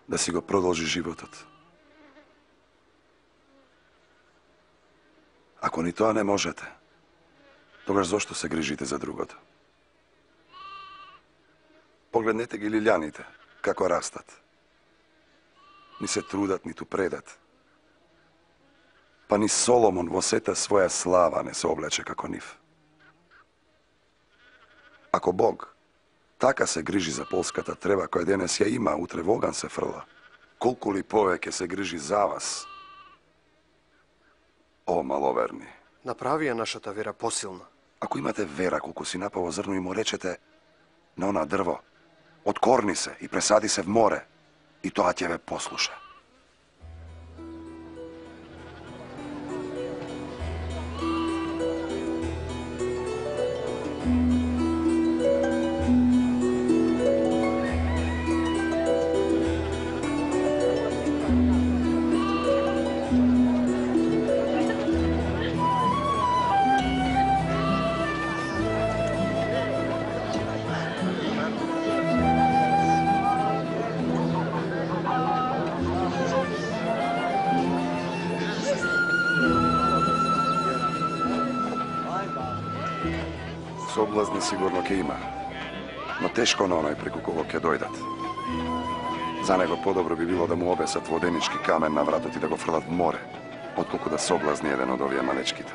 Speaker 12: да си го продолжи животот? Ако ни тоа не можете, тогаш зошто се грижите за другото? Погледнете ги лилјаните, како растат. Ни се трудат, ниту предат. Па ни Соломон во сета своја слава не се облече како нив. Ако Бог така се грижи за полската трева која денес ја има, утре во оган се фрла, колку ли повеќе се грижи за вас? О, маловерни!
Speaker 17: Направи ја нашата вера посилна.
Speaker 12: Ако имате вера колку си напаво зрно и му речете на она дрво, откорни се и пресади се в море, и тоа ќе ве послуша. Соблазни сигурно ќе има, но тешко на оној преку кого ќе дојдат. За него подобро би било да му обесат воденички камен на вратот и да го фрлат в море, отколку да соблазни еден од овие малечките.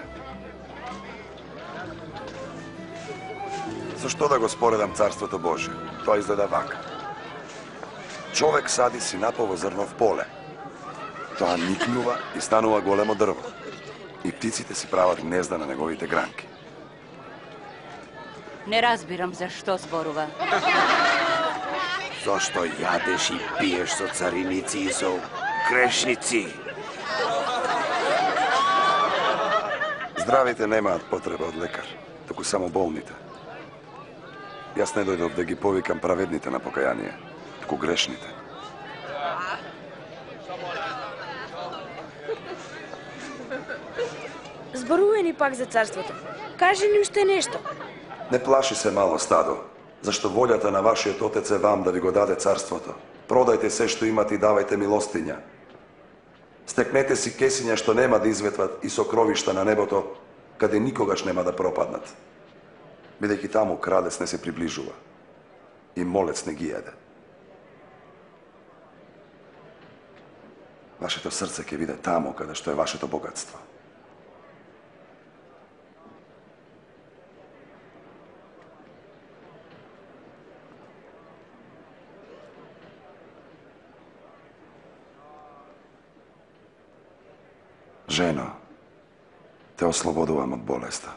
Speaker 12: Зашто да го споредам Царството Божие? Тоа изгледа вака. Човек сади си напово зрно в поле. Тоа никнува и станува големо дрво. И птиците си прават гнезда на неговите гранки.
Speaker 10: Не разбирам за што зборува.
Speaker 19: Зошто јадеш и пиеш со цариници и со грешници?
Speaker 12: Здравите немаат потреба од лекар, туку само болните. Јас не дојдов да ги повикам праведните на покаяние, туку грешните.
Speaker 9: Зборувај ни пак за царството. Кажи ни уште нешто.
Speaker 12: Не плаши се, мало стадо, зашто волјата на вашиот отец е вам да ви го даде царството. Продајте се што имате и давајте милостиња. Стекнете си кесиња што нема да изветват и сокровишта на небото, каде никогаш нема да пропаднат. Бидејќи таму крадец не се приближува и молец не ги једе. Вашето срце ќе биде таму каде што е вашето богатство. Жено, те ослободувам од болеста.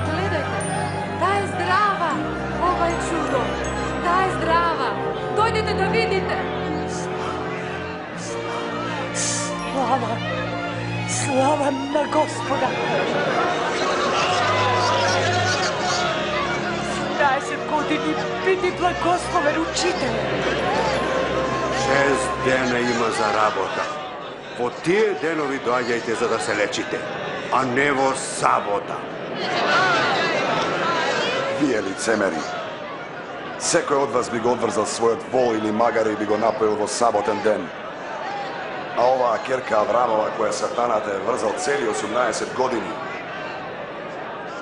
Speaker 3: Гледајте, таа е здрава! Ова е чудо! Таа е здрава! Дојдете да видите!
Speaker 20: Слава! Слава на Господа! седнаесет години биди благословен учител.
Speaker 19: Шест дена има за работа. Во тие денови доаѓајте за да се лечите, а не во сабота.
Speaker 12: Вие лицемери, секој од вас би го одврзал својот вол или магаре и би го напоил во саботен ден. А оваа керка Аврамова која сатаната е врзал цели осумнаесет години,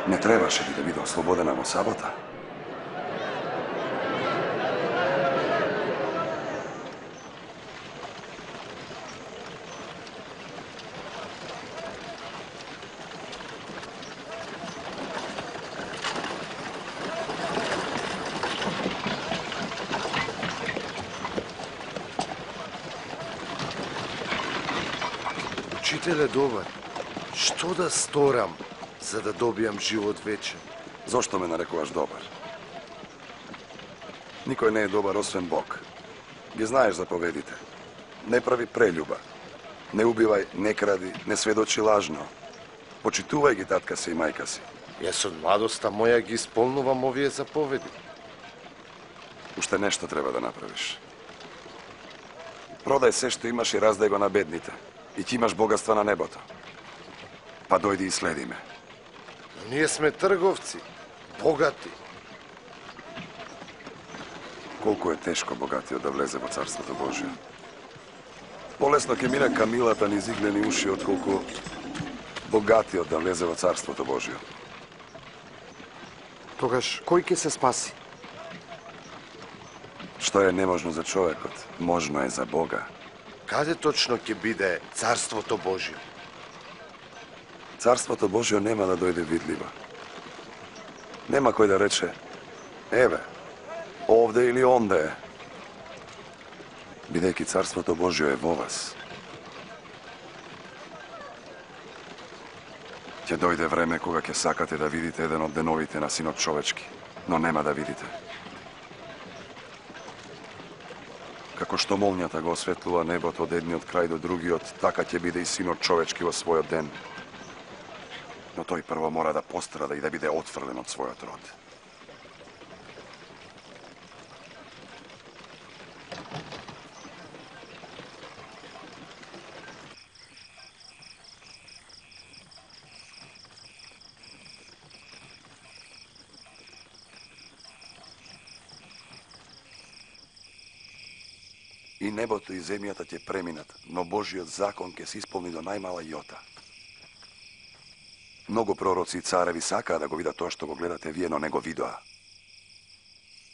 Speaker 12: не требаше ли да биде ослободена во сабота?
Speaker 6: Учителе добар, што да сторам за да добијам живот вечен?
Speaker 12: Зошто ме нарекуваш добар? Никој не е добар освен Бог. Ги знаеш заповедите. Не прави прелюба. Не убивај, не кради, не сведочи лажно. Почитувај ги татка си и мајка си.
Speaker 6: Јас од младоста моја ги исполнувам овие заповеди.
Speaker 12: Уште нешто треба да направиш. Продај се што имаш и раздај го на бедните. И ти имаш богатства на небото. Па дојди и следи ме.
Speaker 6: Но ние сме трговци, богати.
Speaker 12: Колку е тешко богатиот да влезе во Царството Божие. Полесно ќе мине камилата низ иглени уши, отколку богатиот да влезе во Царството Божие.
Speaker 17: Тогаш, кој ќе се спаси?
Speaker 12: Што е неможно за човекот, можно е за Бога.
Speaker 6: Каде точно ќе биде Царството Божие?
Speaker 12: Царството Божие нема да дојде видливо. Нема кој да рече, еве, овде или онде е. Бидејќи Царството Божие е во вас. Ќе дојде време кога ќе сакате да видите еден од деновите на Синот човечки, но нема да видите. Како што молњата го осветлува небото од едниот крај до другиот, така ќе биде и Синот човечки во својот ден. Но тој прво мора да пострада и да биде отфрлен од својот род. И небото и земјата ќе преминат, но Божиот закон ќе се исполни до најмала јота. Многу пророци и цареви сакаа да го видат тоа што го гледате вие, но не го видоа.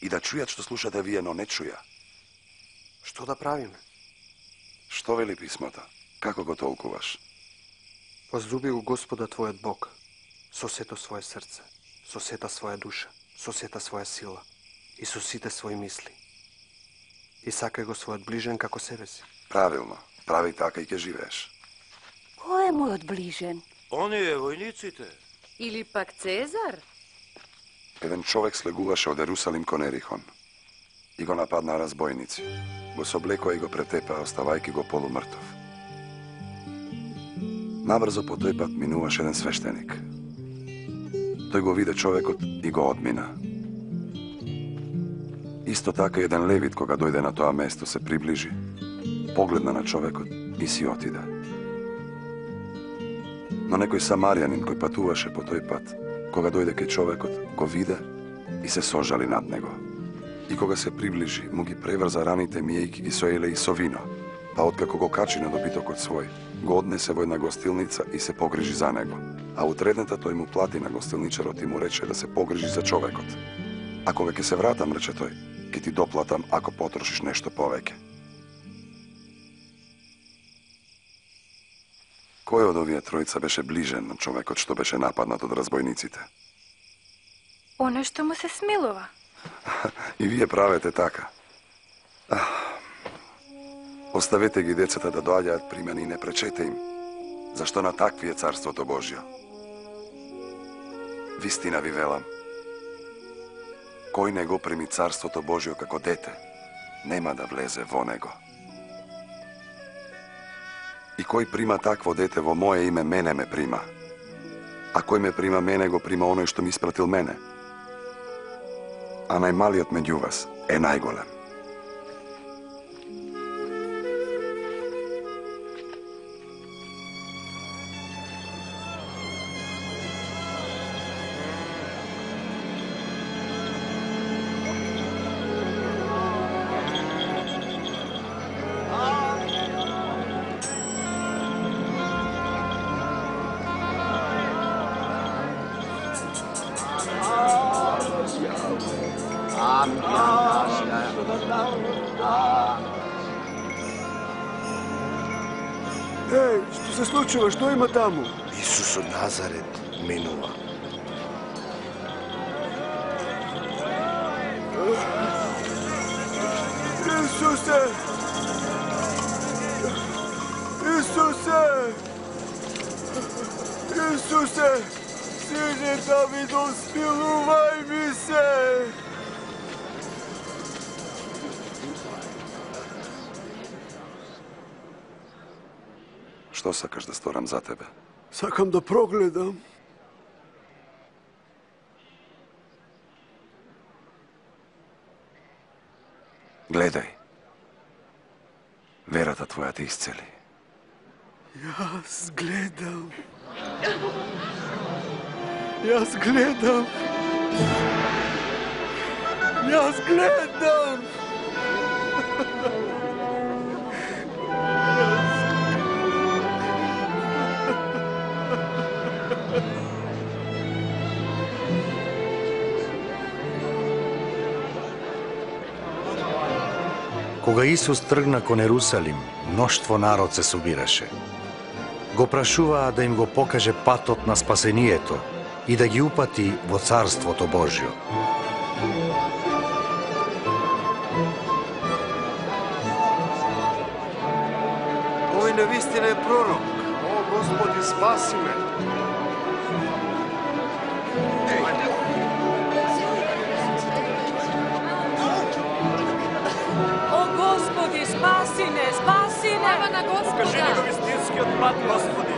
Speaker 12: И да чујат што слушате вие, но не чуја.
Speaker 17: Што да правиме?
Speaker 12: Што вели писмото? Како го толкуваш?
Speaker 17: Возлюби го Господа твојот Бог со сето свое срце, со сета своја душа, со сета своја сила и со сите своји мисли. И сакај го својот ближен како себе си.
Speaker 12: Правилно. Прави така и ќе живееш.
Speaker 10: Кој е мојот ближен?
Speaker 11: Оние војниците.
Speaker 4: Или пак Цезар?
Speaker 12: еден човек слегуваше од Ерусалим кон Ерихон и го нападнаа разбойници. Го соблекоа и го претепаа, оставајќи го полумртов. Набрзо по тој пат минуваше еден свештеник. Тој го виде човекот и го одмина. Исто така еден левит, кога дојде на тоа место, се приближи, погледна на човекот и си отиде. Но некој самарјанин кој патуваше по тој пат, кога дојде кај човекот, го виде и се сожали над него. И кога се приближи, му ги преврза раните, миејќи ги со еле и со вино, па откако го качи на добитокот свој, го однесе во една гостилница и се погрижи за него. А утредната тој му плати на гостилничарот и му рече да се погрижи за човекот. А кога ќе се вратам, рече тој, ќе ти доплатам ако потрошиш нешто повеќе. Кој од овие тројца беше ближен на човекот што беше нападнат од разбойниците?
Speaker 21: Оној што му се смилува.
Speaker 12: И вие правете така. Оставете ги децата да доаѓаат при мене и не пречете им, зашто на такви е Царството Божјо. Вистина ви велам, кој не го прими Царството Божјо како дете, нема да влезе во него. И кој прима такво дете во моje име, мене ме прима. А кој ме прима мене, го прима оној што ми испратил мене. А најмалиот меѓу вас е најголем.
Speaker 14: Еј, што се случува? Што има таму?
Speaker 6: Исус од Назарет минува.
Speaker 14: Исусе! Исусе! Исусе! Сине Давидов, смилувај ми се!
Speaker 12: Што сакаш да сторам за тебе?
Speaker 14: Сакам да прогледам.
Speaker 12: Гледај. Верата твоја те исцели.
Speaker 14: Јас гледам. Јас гледам. Јас гледам.
Speaker 1: Кога Исус тргна кон Ерусалим, мноштво народ се собираше. Го прашуваа да им го покаже патот на спасението и да ги упати во Царството Божјо.
Speaker 19: Овој навистина е пророк. О, Господи, спаси ме.
Speaker 20: О, Господи, спаси не, спаси не!
Speaker 15: Слава на Господа! Покажи ни го вистинскиот пат, Господи!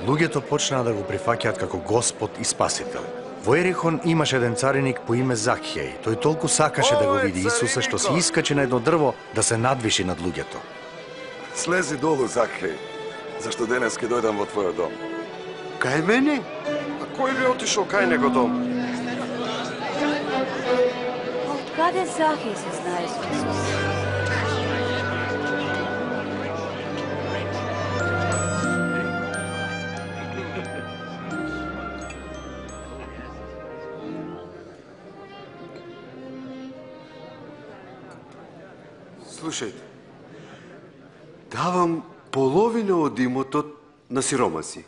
Speaker 1: Луѓето почнаа да го прифаќаат како Господ и Спасител. Во Ерихон имаше еден цариник по име Закхеј. Тој толку сакаше да го види Исуса што се искачи на едно дрво да се надвиши над луѓето.
Speaker 12: Слези долу, Закхеј, зашто денес ќе дојдам во твојот дом.
Speaker 19: Кај мене? А кој би отишол кај него дом?
Speaker 10: Откаде Захеј се знае со Исус?
Speaker 19: Слушајте, давам половина од имотот на сиромаси.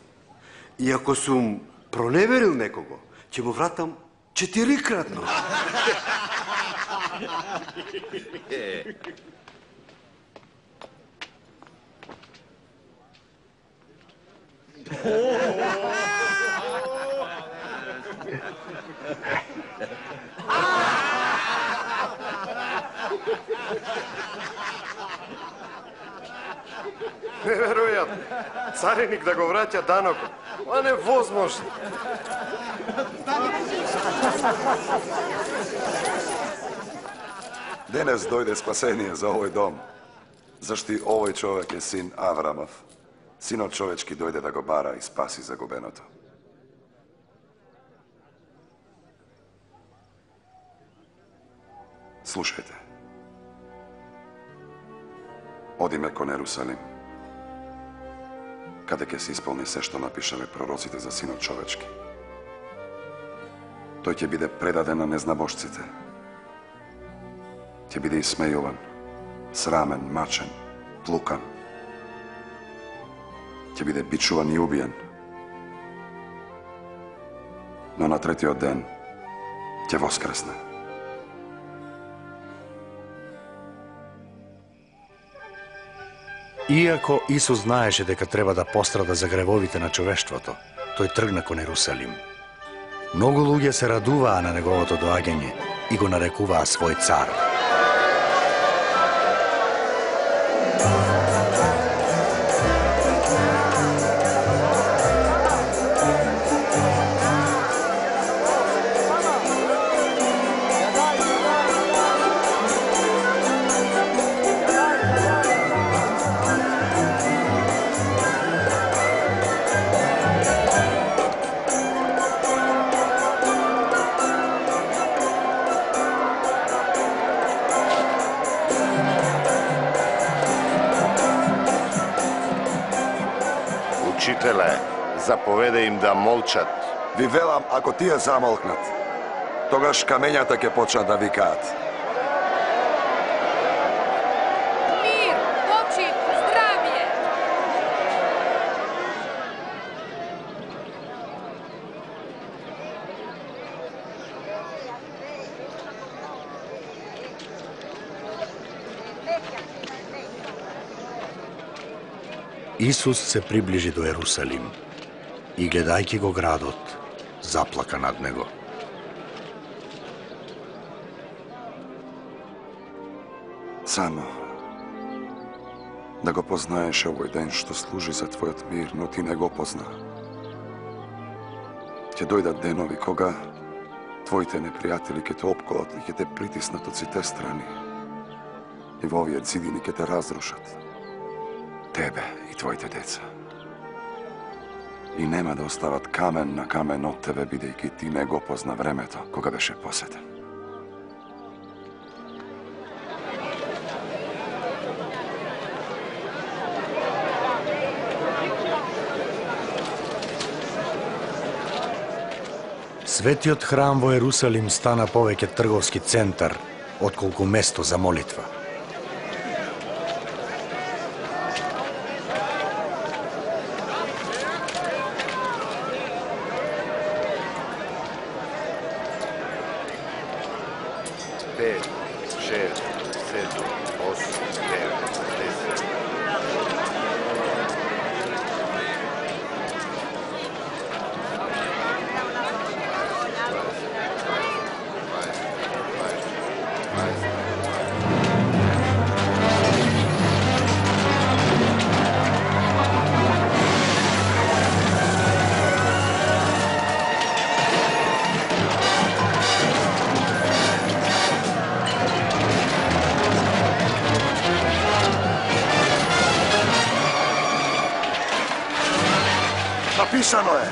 Speaker 19: И ако сум проневерил некого, ќе му вратам четирикратно. Неверојатно. Цариник да го враќа данокот. А невозможно.
Speaker 12: Денес дојде спасение за овој дом, зашто и овој човек е син Аврамов. Синот човечки дојде да го бара и спаси загубеното. Слушајте. Одиме кон Ерусалим, каде ќе се исполни се што напишале пророците за синот човечки. Тој ќе биде предаден на незнабожците. Ќе биде исмејуван, срамен, мачен, плукан. Ќе биде бичуван и убиен. Но на третиот ден ќе воскресне.
Speaker 1: Иако Исус знаеше дека треба да пострада за гревовите на човештвото, тој тргна кон Ерусалим. Многу луѓе се радуваа на неговото доаѓање и го нарекуваа свој цар.
Speaker 18: Учителе, заповеда им да молчат.
Speaker 12: Ви велам, ако тие замолкнат, тогаш камењата ќе почнат да викаат.
Speaker 20: Мир, почит, здравје!
Speaker 1: Исус се приближи до Ерусалим и гледајќи го градот, заплака над него.
Speaker 12: Само да го познаеш овој ден што служи за твојот мир, но ти не го позна. Ќе дојдат денови кога твоите непријатели ќе те опколат и ќе те притиснат од сите страни. И во овие зидини ќе те разрушат. Тебе и твоите деца. И нема да остават камен на камен од тебе, бидејќи ти не го позна времето кога беше посетен.
Speaker 1: Светиот храм во Ерусалим стана повеќе трговски центар, отколку место за молитва.
Speaker 18: Пет, шест, седум, осум, девет, десет.
Speaker 12: Напишано е: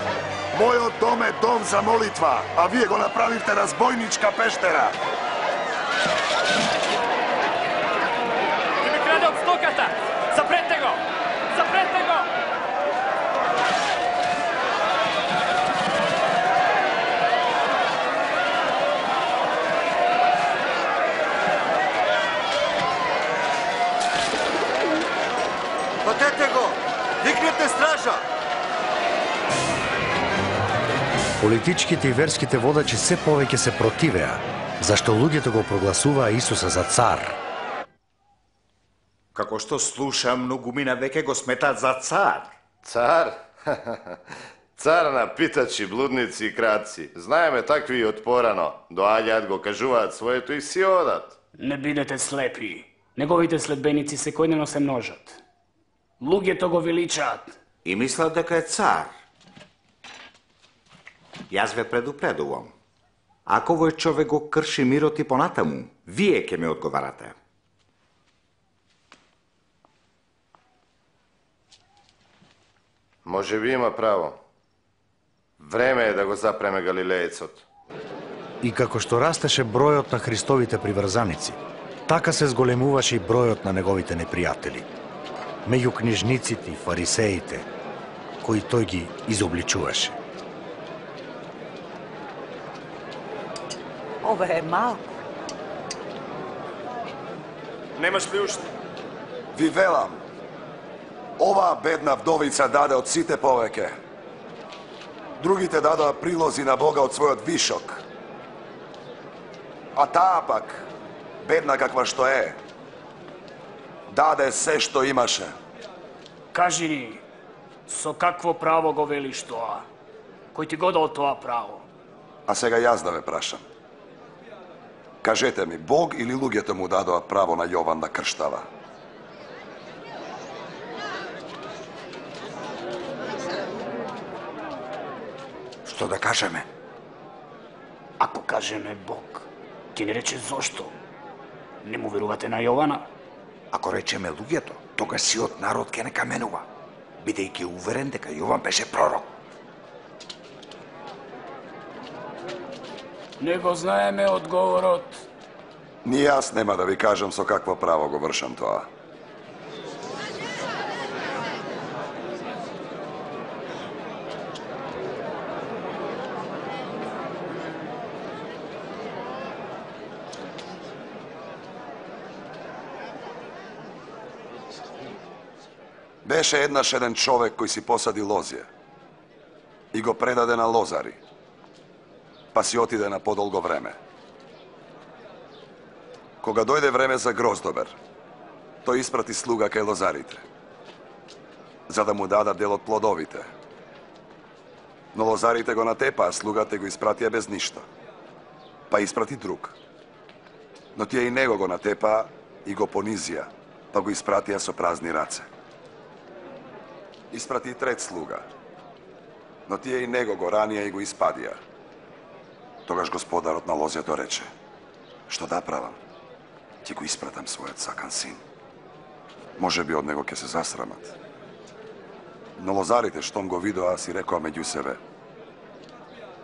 Speaker 12: мојот дом е дом за молитва, а вие го направивте разбојничка пештера.
Speaker 15: Ти ми краде од стоката! Запрете го! Запрете го!
Speaker 19: Патете го! Викнете стража!
Speaker 1: Политичките и верските водачи се повеќе се противеа, зашто луѓето го прогласуваа Исуса за цар.
Speaker 16: Како што слушам, многумина веќе го сметат за цар.
Speaker 18: Цар? Цар на питачи, блудници и крадци. Знаеме такви и од порано. Доаѓаат, го кажуваат своето и си одат.
Speaker 2: Не бидете слепи. Неговите следбеници секојдневно се множат. Луѓето го величаат.
Speaker 8: И мислат дека е цар. Јас ве предупредувам. Ако овој човек го крши мирот и понатаму, вие ќе ме одговарате.
Speaker 18: Може би има право. Време е да го запреме галилеецот.
Speaker 1: И како што растеше бројот на Христовите приврзаници, така се зголемуваше и бројот на неговите непријатели. Меѓу книжниците и фарисеите, кои тој ги изобличуваше.
Speaker 20: Ова е малку.
Speaker 5: Немаш ли уште?
Speaker 12: Ви велам, оваа бедна вдовица даде од сите повеќе. Другите дадоа прилози на Бога од својот вишок. А таа пак, бедна каква што е, даде се што имаше.
Speaker 2: Кажи ни, со какво право го велиш тоа? Кој ти го дал тоа право?
Speaker 12: А сега јас да ве прашам. Кажете ми, Бог или луѓето му дадоа право на Јован да крштава?
Speaker 8: Што да кажеме?
Speaker 2: Ако кажеме Бог, ќе ни рече зошто? Не му верувате на Јована?
Speaker 8: Ако речеме луѓето, тогаш сиот народ ќе не каменува, бидејќи уверен дека Јован беше пророк.
Speaker 2: Не го знаеме одговорот.
Speaker 12: Ни јас нема да ви кажам со какво право го вршам тоа. Беше еднаш еден човек кој си посади лозје и го предаде на лозари, па си отиде на подолго време. Кога дојде време за гроздобер, тој испрати слуга кај лозарите, за да му дадат дел од плодовите. Но лозарите го натепаа, слугата го испратија без ништо. Па испрати друг. Но тие и него го натепаа и го понизија, па го испратија со празни раце. Испрати и трет слуга, но тие и него го ранија и го испадија. Тогаш господарот на лозјето рече: што да правам? Ќе го испратам својот сакан син. Може би од него ќе се засрамат. Но лозарите, штом го видоа, си рекоа меѓу себе: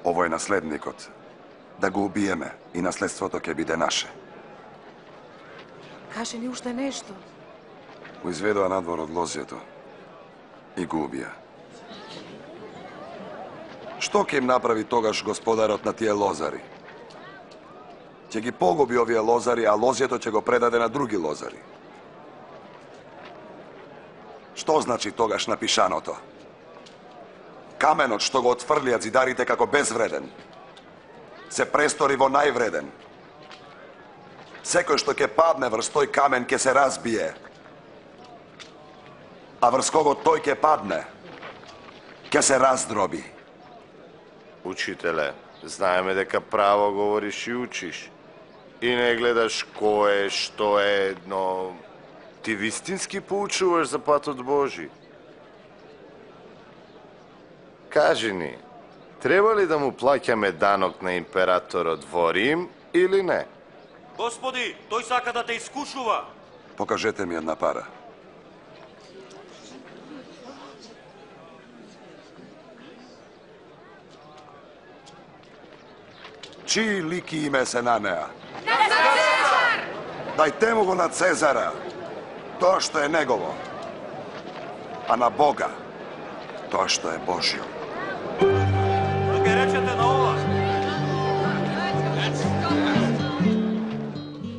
Speaker 12: ово е наследникот, да го убиеме и наследството ќе биде наше.
Speaker 3: Каже ни уште нешто.
Speaker 12: Го изведоа надвор од лозјето и го убија. Што ќе им направи тогаш господарот на тие лозари? Ќе ги погуби овие лозари, а лозјето ќе го предаде на други лозари. Што значи тогаш напишаното? Каменот што го отфрлија зидарите како безвреден, се престори во највреден. Секој што ќе падне врз тој камен ќе се разбие, а врз кого тој ќе падне, ќе се раздроби.
Speaker 18: Учителе, знаеме дека право говориш и учиш. И не гледаш кој е, што е, но ти вистински поучуваш за патот Божи. Кажи ни, треба ли да му плаќаме данок на императорот во Рим или не?
Speaker 11: Господи, тој сака да те искушува.
Speaker 12: Покажете ми една пара. Чии лик и име се на неа?
Speaker 20: На Цезар!
Speaker 12: Дајте му го на Цезара, тоа што е негово, а на Бога, тоа што е Божјо.
Speaker 11: Да ке речете на ова.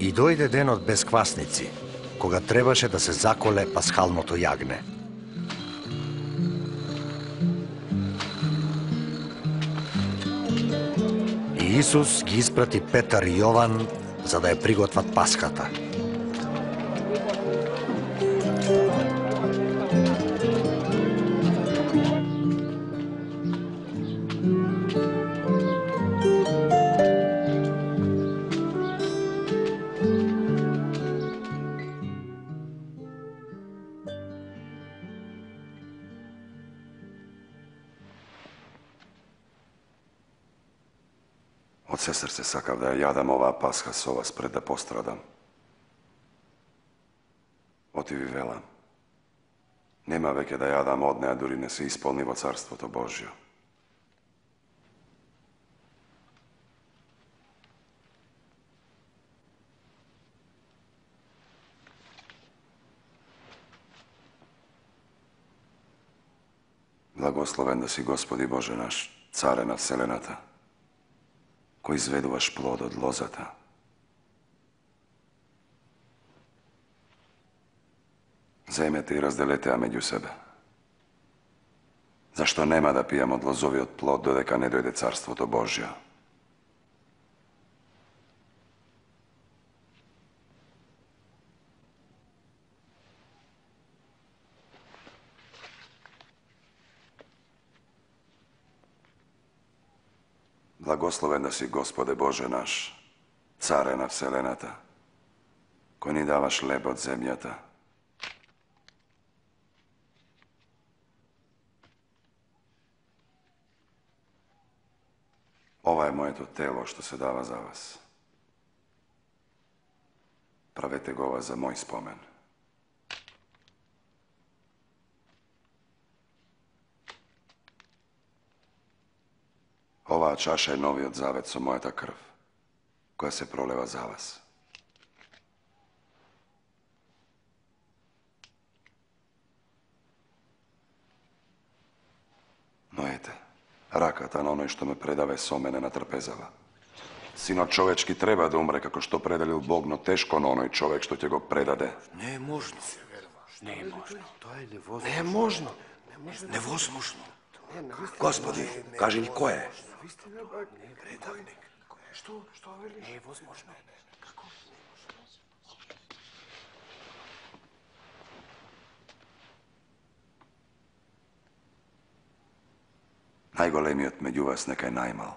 Speaker 1: И дојде денот без квасници, кога требаше да се заколе пасхалното јагне. И Исус ги испрати Петар и Јован за да ја приготват пасхата.
Speaker 12: се срце сакав да ја јадам оваа пасха со вас пред да пострадам. Оти ви велам, нема веќе да јадам од неа, дури не се исполни во Царството Божјо. Благословен да си, Господи Боже наш, Царе на вселената, кој изведуваш плод од лозата. Земете и разделете ја меѓу себе. Зашто нема да пијам од лозовиот плод додека не дојде Царството Божјо. Благословен да си, Господе Боже наш, Царе на вселената, кој ни даваш леб од земјата. Ова е моето тело што се дава за вас. Правете го ова за мој спомен. Оваа чаша е новиот завет со мојата крв, која се пролева за вас. Но ете, раката на оној што ме предаве со мене на трпезава. Синот човечки треба да умре како што пределил Бог, но тешко на оној човек што ќе го предаде.
Speaker 13: Не е можно.
Speaker 2: Не е можно.
Speaker 19: Тоа е невозможно.
Speaker 13: Не е можно. Невозможно. Господи, кажи ни кој е?
Speaker 19: Предавник. Што? Што велиш?
Speaker 2: Не е возможно.
Speaker 19: Како?
Speaker 12: Најголемиот меѓу вас нека е најмал.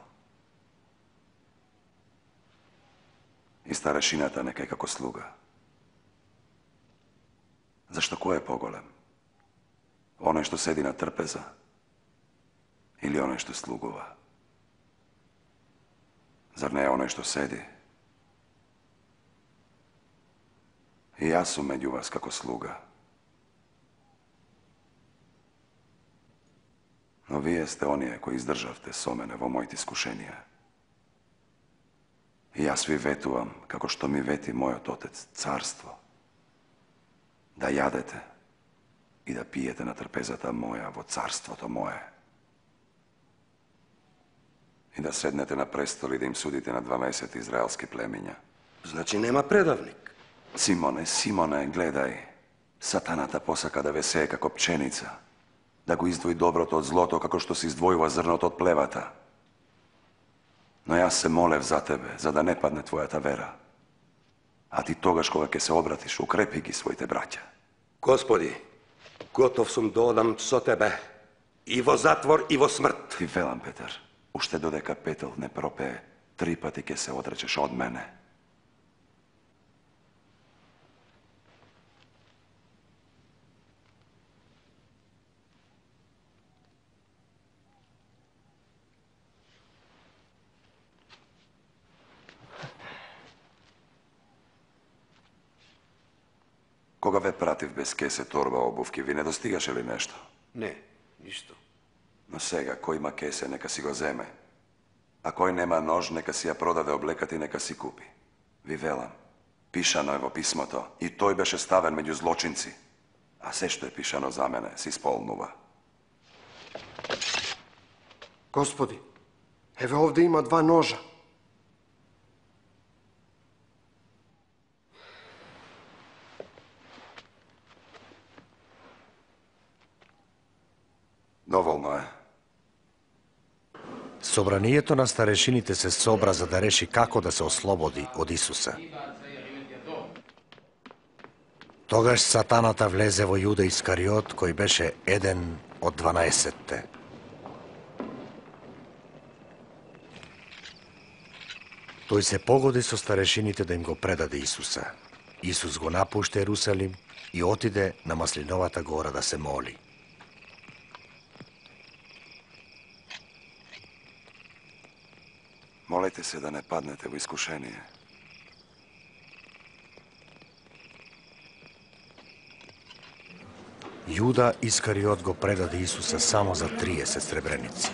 Speaker 12: И старешината нека е како слуга. Зашто кој е поголем? Оној што седи на трпеза или оној што слугува? Зар не е оној што седи? И јас сум меѓу вас како слуга. Но вие сте оние кои издржавте со мене во моите искушенија. И јас ви ветувам, како што ми вети мојот Отец, царство, да јадете и да пиете на трпезата моја во царството мое. И да седнете на престол и да им судите на дванаесет израелски племиња.
Speaker 13: Значи нема предавник.
Speaker 12: Симоне, Симоне, гледај, сатаната посака да ве сее како пченица, да го издвои доброто од злото, како што се издвојува зрното од плевата. Но јас се молев за тебе, за да не падне твојата вера. А ти тогаш кога ќе се обратиш, укрепи ги своите браќа.
Speaker 13: Господи, готов сум да одам со тебе и во затвор и во смрт.
Speaker 12: Ти велам, Петар, уште додека петел не пропее, три пати ќе се одречеш од мене. Кога ве пратив без кесе, торба, обувки, ви не достигаше ли нешто?
Speaker 19: Не, ништо.
Speaker 12: Но сега, кој има кесе, нека си го земе. А кој нема нож, нека си ја продаде облеката и нека си купи. Ви велам, пишано е во писмото, и тој беше ставен меѓу злочинци. А се што е пишано за мене, се исполнува.
Speaker 17: Господи, еве овде има два ножа.
Speaker 12: Доволно е.
Speaker 1: Собранието на старешините се собра за да реши како да се ослободи од Исуса. Тогаш сатаната влезе во Јуда Искариот, кој беше еден од дванаесетте. Тој се погоди со старешините да им го предаде Исуса. Исус го напушта Ерусалим и отиде на Маслиновата гора да се моли.
Speaker 12: Молете молете се да не паднете во искушение.
Speaker 1: Јуда Искариот го предаде Исуса само за триесет сребреници.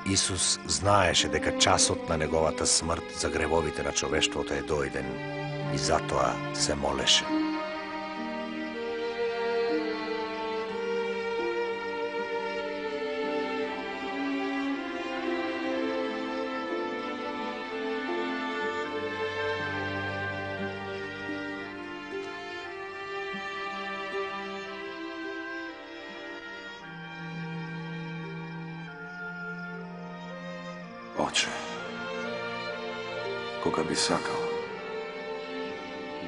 Speaker 1: Исус знаеше дека часот на неговата смрт за гревовите на човештвото е дојден и затоа се молеше.
Speaker 12: Оче, кога би сакал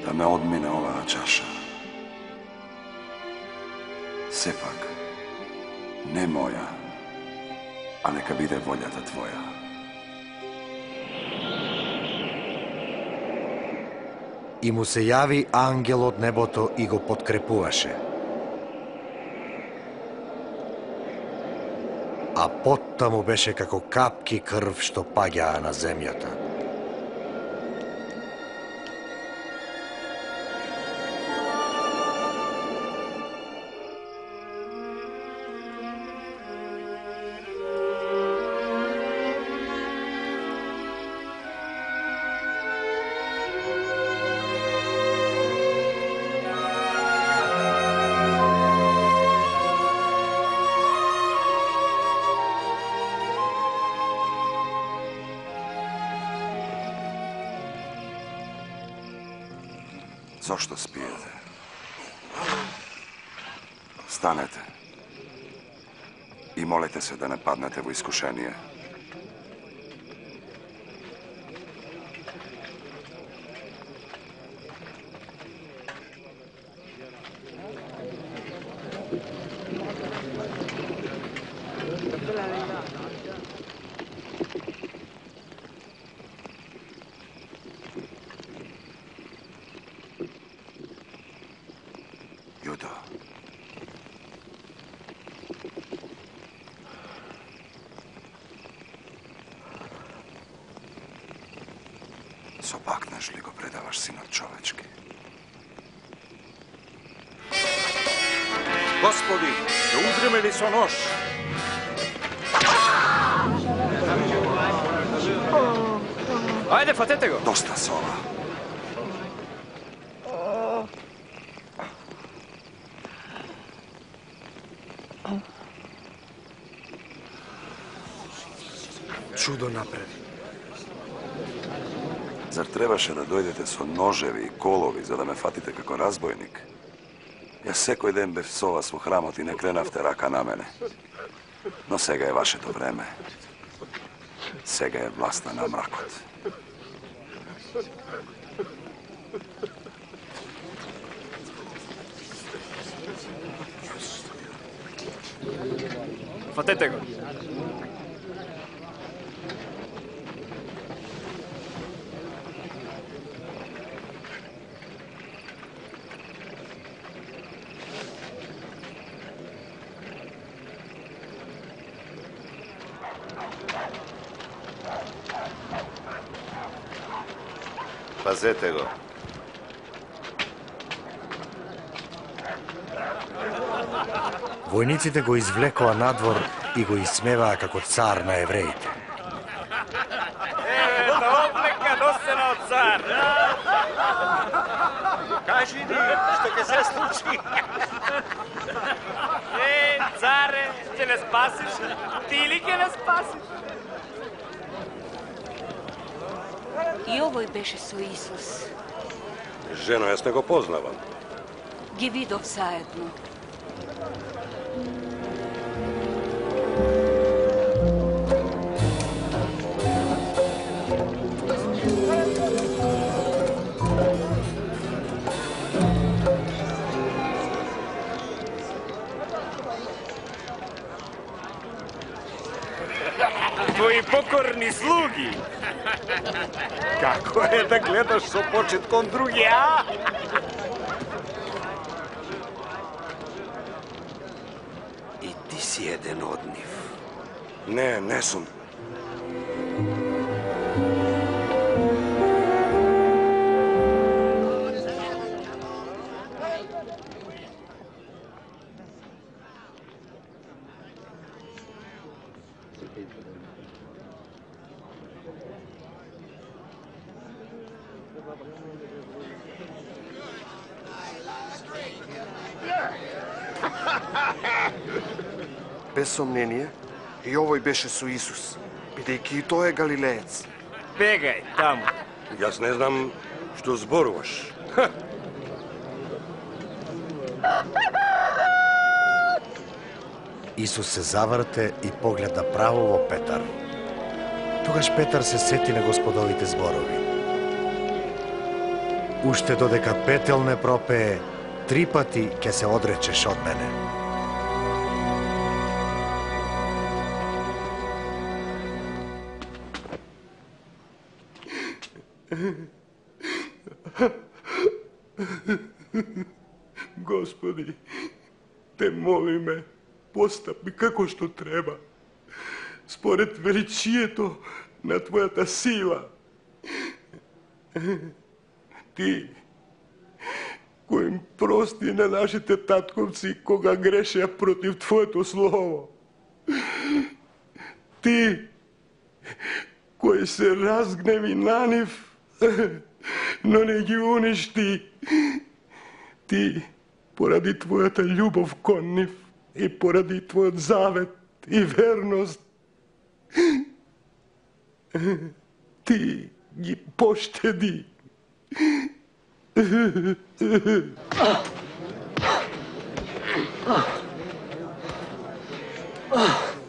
Speaker 12: да ме одмине оваа чаша, сепак не моја, а нека биде волјата Твоја.
Speaker 1: И му се јави ангел од небото и го подкрепуваше. А потта му беше како капки крв што паѓаа на земјата.
Speaker 12: Зошто спиете? Станете и молете се да не паднете во искушение. Јудо. Сопакнеш ли го предаваш синот човечки?
Speaker 11: Господи, да узреме ли со нож?
Speaker 15: Ајде, фатете го!
Speaker 12: Доста со ова.
Speaker 17: Чудо направи.
Speaker 12: Зар требаше да дојдете со ножеви и колови за да ме фатите како разбойник? Јас секој ден бев со вас во храмот и не кренавте рака на мене. Но сега е вашето време. Сега е власта на мракот.
Speaker 15: Фатете го!
Speaker 18: Пазете го.
Speaker 1: Војниците го извлекоа надвор и го исмеваа како цар на евреите.
Speaker 5: Еве, да облека носена од цар.
Speaker 11: Кажи ни, што ќе се случи?
Speaker 5: Е, царе, ќе не спасиш? Ти ли ќе не спасиш?
Speaker 10: И овој беше со Исус.
Speaker 13: Жено, јас не го познавам.
Speaker 10: Ги видов заедно.
Speaker 5: Твои покорни слуги.
Speaker 11: Како е да гледаш со почет кон други, а?
Speaker 19: И ти си еден од нив.
Speaker 12: Не, не сум.
Speaker 17: Без сомнение, и овој беше со Исус, бидејќи и тој е галилеец.
Speaker 13: Бегај таму. Јас не знам што зборуваш. Ха!
Speaker 1: Исус се заврте и погледа право во Петар. Тогаш Петар се сети на Господовите зборови. Уште додека петел не пропее, три пати ќе се одречеш од мене.
Speaker 7: Господи, те молиме, постапи како што треба, според величието на Твојата сила. Ти, кој им прости на нашите татковци кога грешеа против Твоето слово. Ти, кој се разгневи на нив, но не ги уништи. Ти, поради Твојата љубов кон нив и поради Твојот завет и верност, Ти ги поштеди.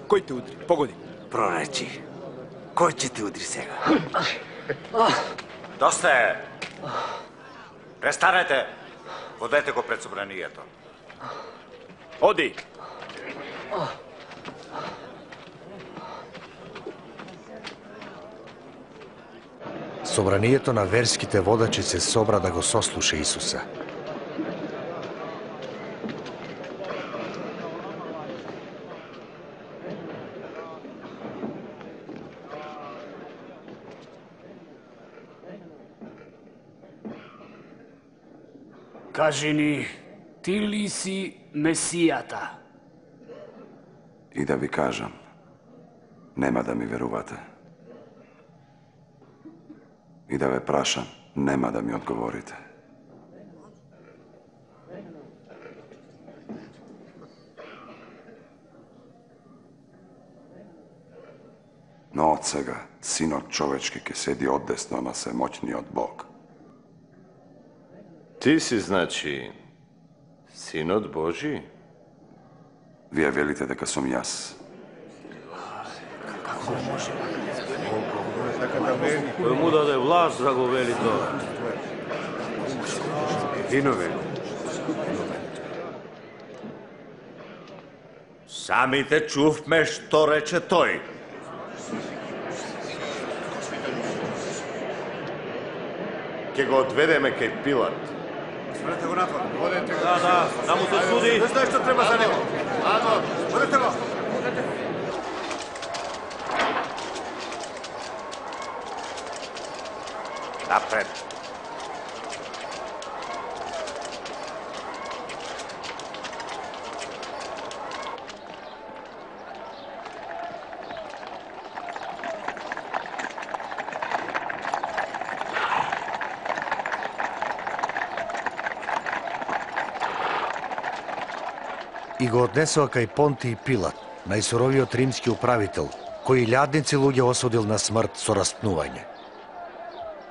Speaker 2: Кој те удри? Погоди.
Speaker 8: Проречи. Кој ќе те удри сега? Доста е. Престанете. Водете го пред собранието.
Speaker 2: Оди.
Speaker 1: Собранието на верските водачи се собра да го сослуша Исуса.
Speaker 2: Кажи ни, ти ли си Месијата?
Speaker 12: И да ви кажам, нема да ми верувате. И да ве прашам, нема да ми одговорите. Но од сега, Синот човечки ќе седи одесно на Семоќниот Бог.
Speaker 18: Ти си, значи, Синот Божи?
Speaker 12: Вие велите дека сум јас.
Speaker 11: Кој му даде власт да го вели тоа?
Speaker 19: Виновен.
Speaker 8: Самите чувме што рече тој.
Speaker 18: Ке го одведеме кај Пилат.
Speaker 19: Сврете го надвор. Водете го.
Speaker 11: Да, да, да му се суди.
Speaker 19: Не знаеш што треба за него. Надвор. Водете го.
Speaker 8: Напред.
Speaker 1: И го однесоа кај Понти и Пилат, најсуровиот римски управител, кој илјадници луѓе осудил на смрт со распнување.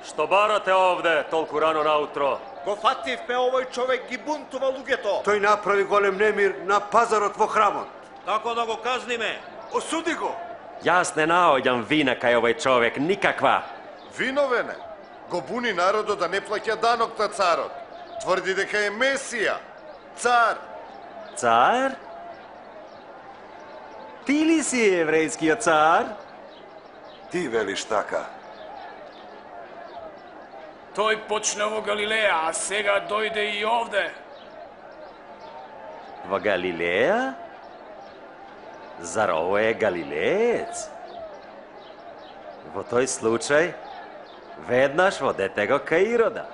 Speaker 11: Што барате овде толку рано наутро?
Speaker 8: Го фативме, овој човек ги бунтува луѓето.
Speaker 19: Тој направи голем немир на пазарот во храмот.
Speaker 11: Како да го казниме?
Speaker 19: Осуди го.
Speaker 22: Јас не наоѓам вина кај овој човек, никаква.
Speaker 18: Виновене. Го буни народот да не плаќа данок на царот. Тврди дека е Месија, цар.
Speaker 22: Цар? Ти ли си еврејскиот цар?
Speaker 12: Ти велиш така.
Speaker 2: Тој почна во Галилеја, а сега дојде и овде.
Speaker 22: Во Галилеја? Зар ово е галилеец? Во тој случај, веднаш водете го кај Ирода.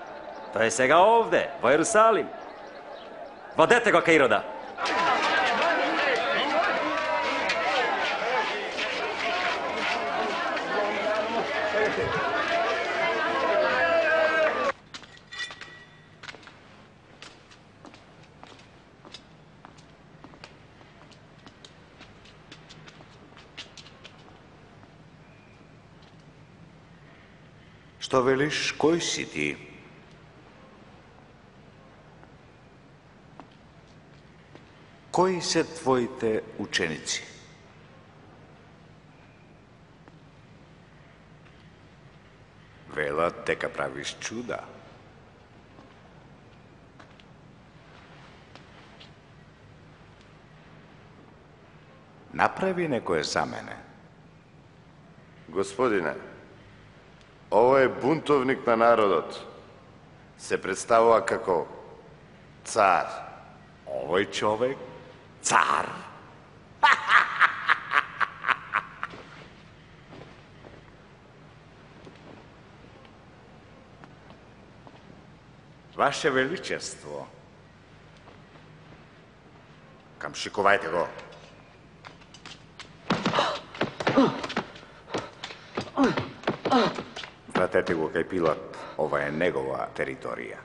Speaker 22: Тој е сега овде, во Ерусалим. Водете го кај Ирода.
Speaker 8: Што велиш, кој си ти? Кои се твоите ученици? Велат дека правиш чуда. Направи некое за мене.
Speaker 18: Господине, ова е бунтовник на народот. Се представува како цар.
Speaker 8: Овој човек цар. Ваше Величество, камшикувајте го. Вратете го кај Пилат, ова е негова територија.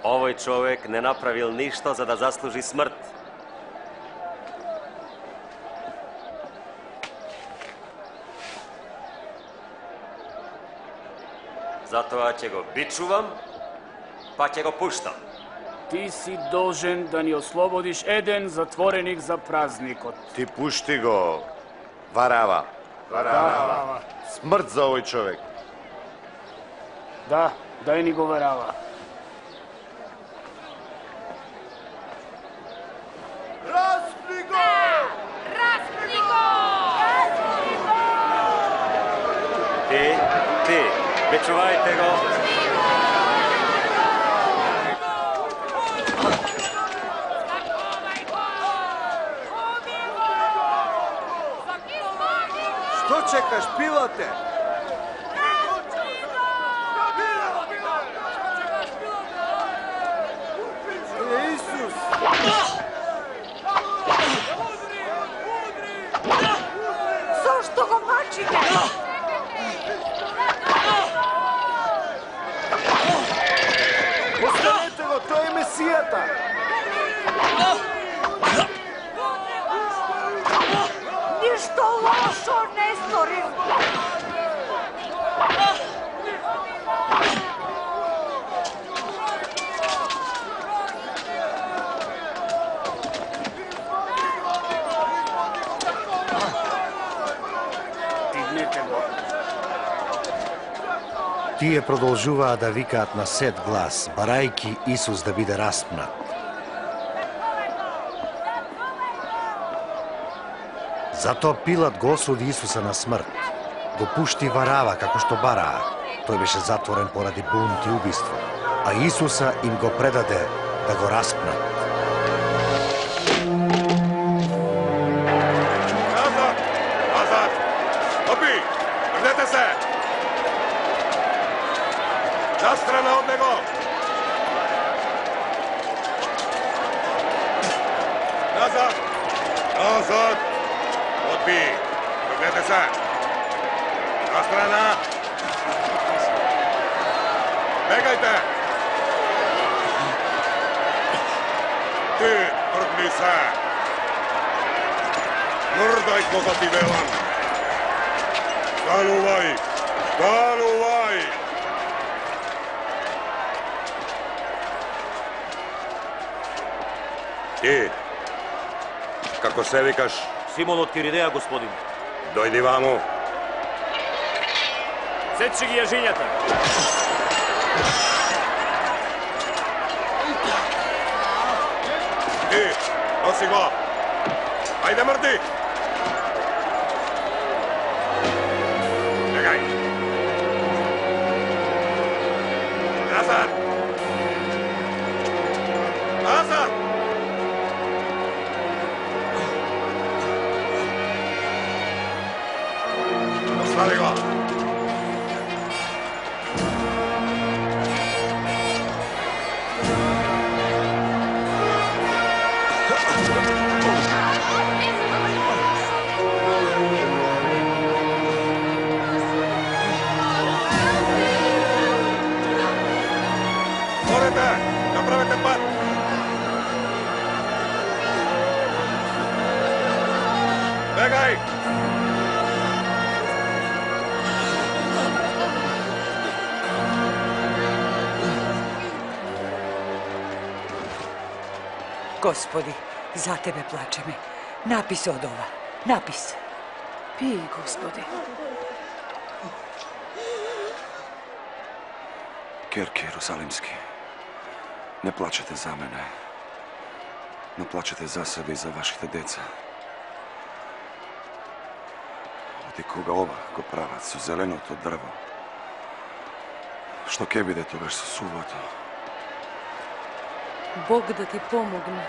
Speaker 22: Овој човек не направил ништо за да заслужи смрт. Затоа ќе го бичувам, па ќе го пуштам.
Speaker 2: Ти си должен да ни ослободиш еден затвореник за празникот.
Speaker 18: Ти пушти го, Варава.
Speaker 2: Варава.
Speaker 18: Смрт за овој човек.
Speaker 2: Да, дај ни го Варава.
Speaker 6: Распни го!
Speaker 20: Распни го!
Speaker 22: Ти, ти, бичувајте го.
Speaker 14: Што чекаш, Пилате? Е, Исус!
Speaker 20: Зошто го мачите?
Speaker 14: Оставете го, тој е Месијата!
Speaker 20: Ништо лошо не сторил.
Speaker 2: Дигнете го.
Speaker 1: Тие продолжуваат да викаат на сет глас, барајки Исус да биде распнат. Затоа Пилат го осуди Исуса на смрт. Го пушти Варава како што бараа. Тој беше затворен поради бунт и убиство, а Исуса им го предаде да го распнат.
Speaker 7: Назад! Назад! Опи! Врнете се! Настрана од него! Назад! Назад! Отби! Врнете се! Настрана! Бегајте! Ти, тргни се! Мрдај кога ти велам! Станувај!
Speaker 13: Станувај! Ти, како се викаш?
Speaker 11: Симон од Киринеја, господин.
Speaker 13: Дојди ваму.
Speaker 15: Сечи ги јажињата.
Speaker 13: Ти, носи го. Ајде, мрди! Бегај! Назад! Назад! Остави го!
Speaker 4: Направете пат! Бегај!
Speaker 9: Господи, за Тебе плачеме. Напис од ова. Напис.
Speaker 3: Пи, Господи.
Speaker 12: Керки Јерусалимски, не плачете за мене, но плачете за себе и за вашите деца. Оти кога ова го прават со зеленото дрво, што ќе биде тогаш со сувото?
Speaker 3: Бог да ти помогне.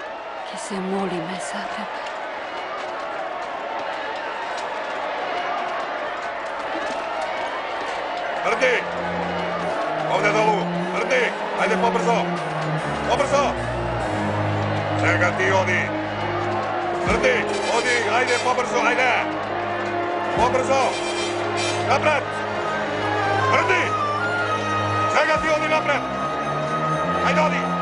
Speaker 10: Ке се молиме за тебе.
Speaker 4: Мрди! Овде долу! Мрди! Ајде побрзо! Побрзо! Сега ти оди! Мрди! Оди! Ајде побрзо! Ајде! Побрзо! Напред! Мрди! Сега ти оди напред! Ајде оди!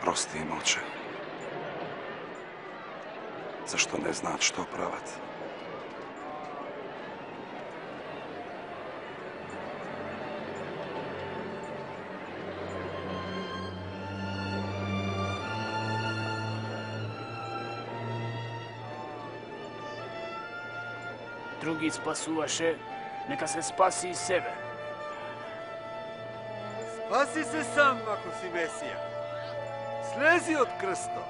Speaker 12: Прости им, Оче. Зашто не знаат што прават.
Speaker 2: други спасуваше, нека се спаси и себе.
Speaker 14: Спаси се сам, ако си Месија. Слези од крстот.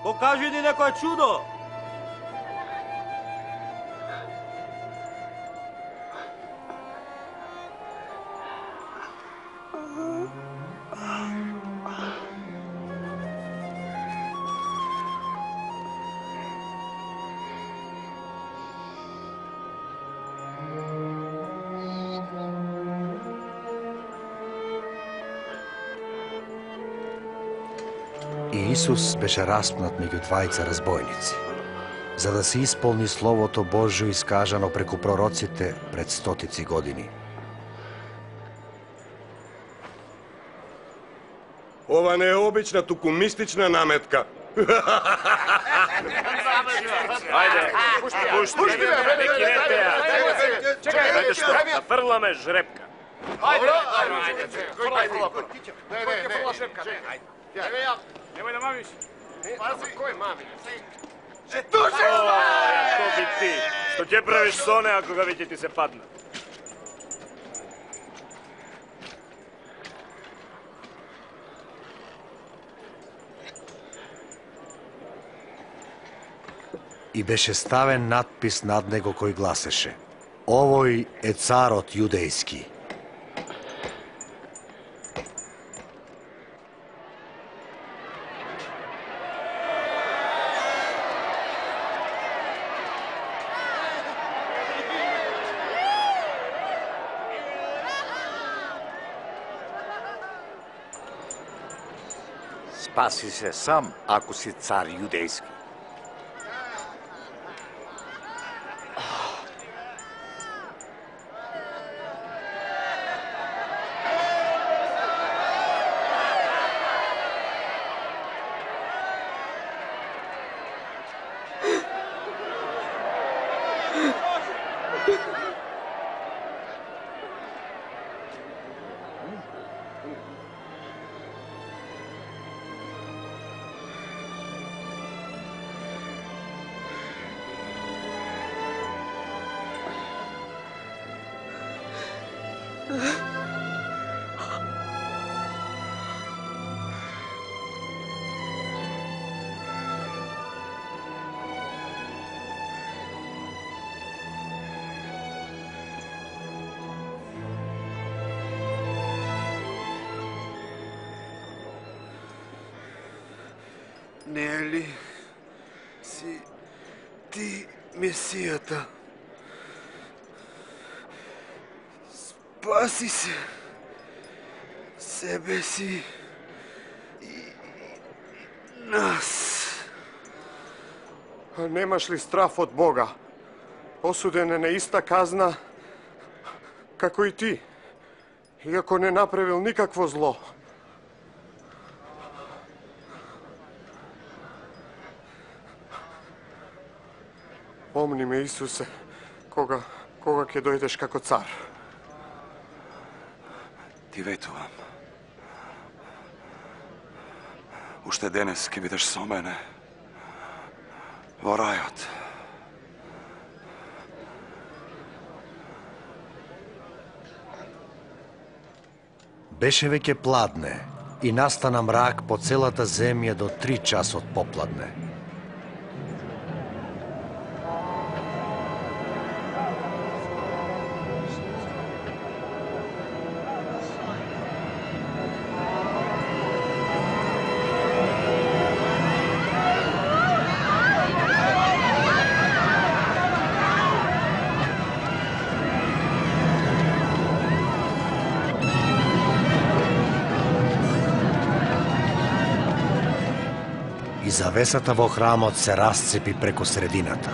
Speaker 11: Покажи ни некое чудо.
Speaker 1: И Исус беше распнат меѓу двајца разбойници, за да се исполни Словото Божјо искажано преку пророците пред стотици години.
Speaker 7: Ова не е обична, туку мистична наметка.
Speaker 5: Ајде, пушти, пушти, не кинете ја. Чекај, што, да фрламе жрепка.
Speaker 15: Ајде, ајде, ајде, не, не, не, фрла жрепка, ајде. Еве ја. Немој да мамиш. Пази, кој мами?
Speaker 5: Се туше! Што би ти? Што ќе правиш со неа кога веќе ти се падна?
Speaker 1: И беше ставен надпис над него кој гласеше: Овој е царот јудејски.
Speaker 8: Спаси се сам, ако си цар јудејски.
Speaker 6: Не е ли си ти Месијата? Спаси се, себе си и нас.
Speaker 7: А немаш ли страф од Бога? Осуден е на иста казна како и ти, иако не направил никакво зло. Помни ме, Исусе, кога, кога ќе дојдеш како цар.
Speaker 12: Ти ветувам. Уште денес ќе бидеш со мене во рајот.
Speaker 1: Беше веќе пладне и настана мрак по целата земја до три часот попладне. И завесата во храмот се расцепи преку средината.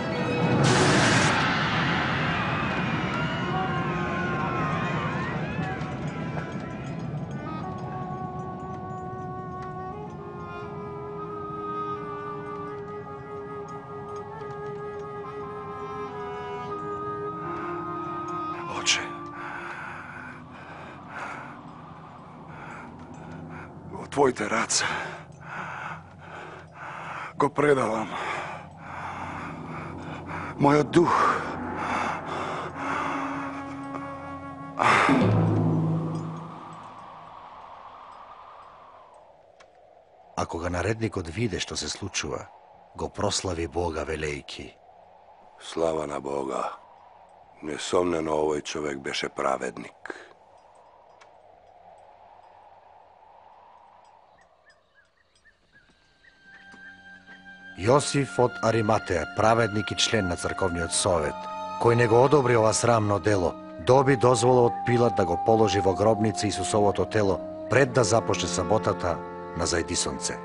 Speaker 12: Оче, во твоите раце го предавам
Speaker 18: Мојот дух.
Speaker 1: А кога наредникот виде што се случува, го прослави Бога велејки:
Speaker 13: Слава на Бога. Несомнено овој човек беше праведник.
Speaker 1: Јосиф од Ариматеја, праведник и член на црковниот совет, кој не го одобри ова срамно дело, доби дозвола од Пилат да го положи во гробница Исусовото тело пред да започне саботата на зајдисонце.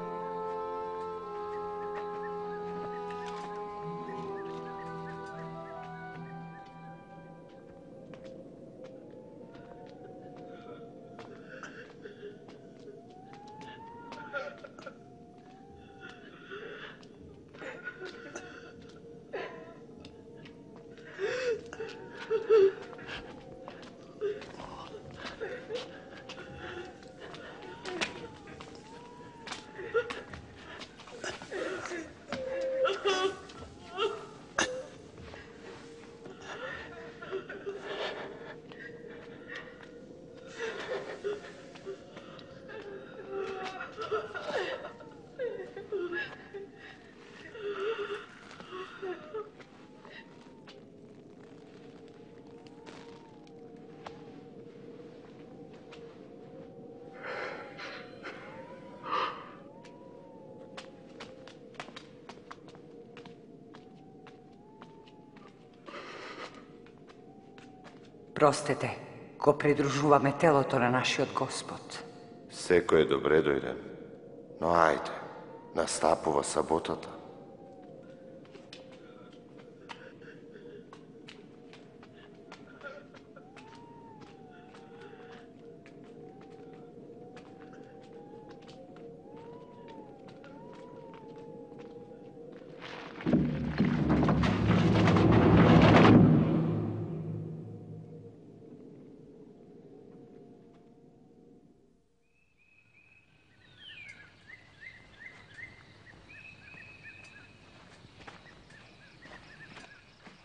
Speaker 9: Простете, го придружуваме телото на нашиот Господ.
Speaker 18: Секој е добре дојден, но ајде, настапува саботата.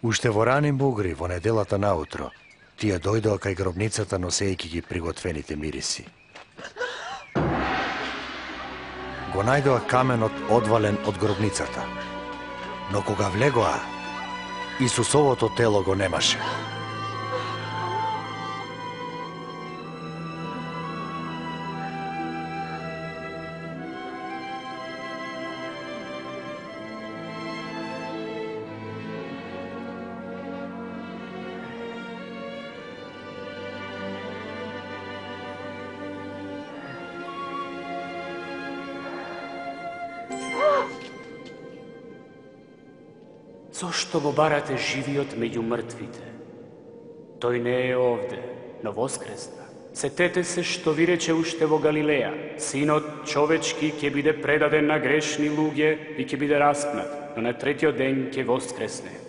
Speaker 1: Уште во ранин бугри, во неделата наутро, тие дојдоа кај гробницата носејќи ги приготвените мириси. Го најдоа каменот одвален од гробницата, но кога влегоа, Исусовото тело го немаше.
Speaker 2: Зошто го барате живиот меѓу мртвите? Тој не е овде, но воскресна. Сетете се што ви рече уште во Галилеја. Синот човечки ќе биде предаден на грешни луѓе и ќе биде распнат, но на третиот ден ќе воскресне.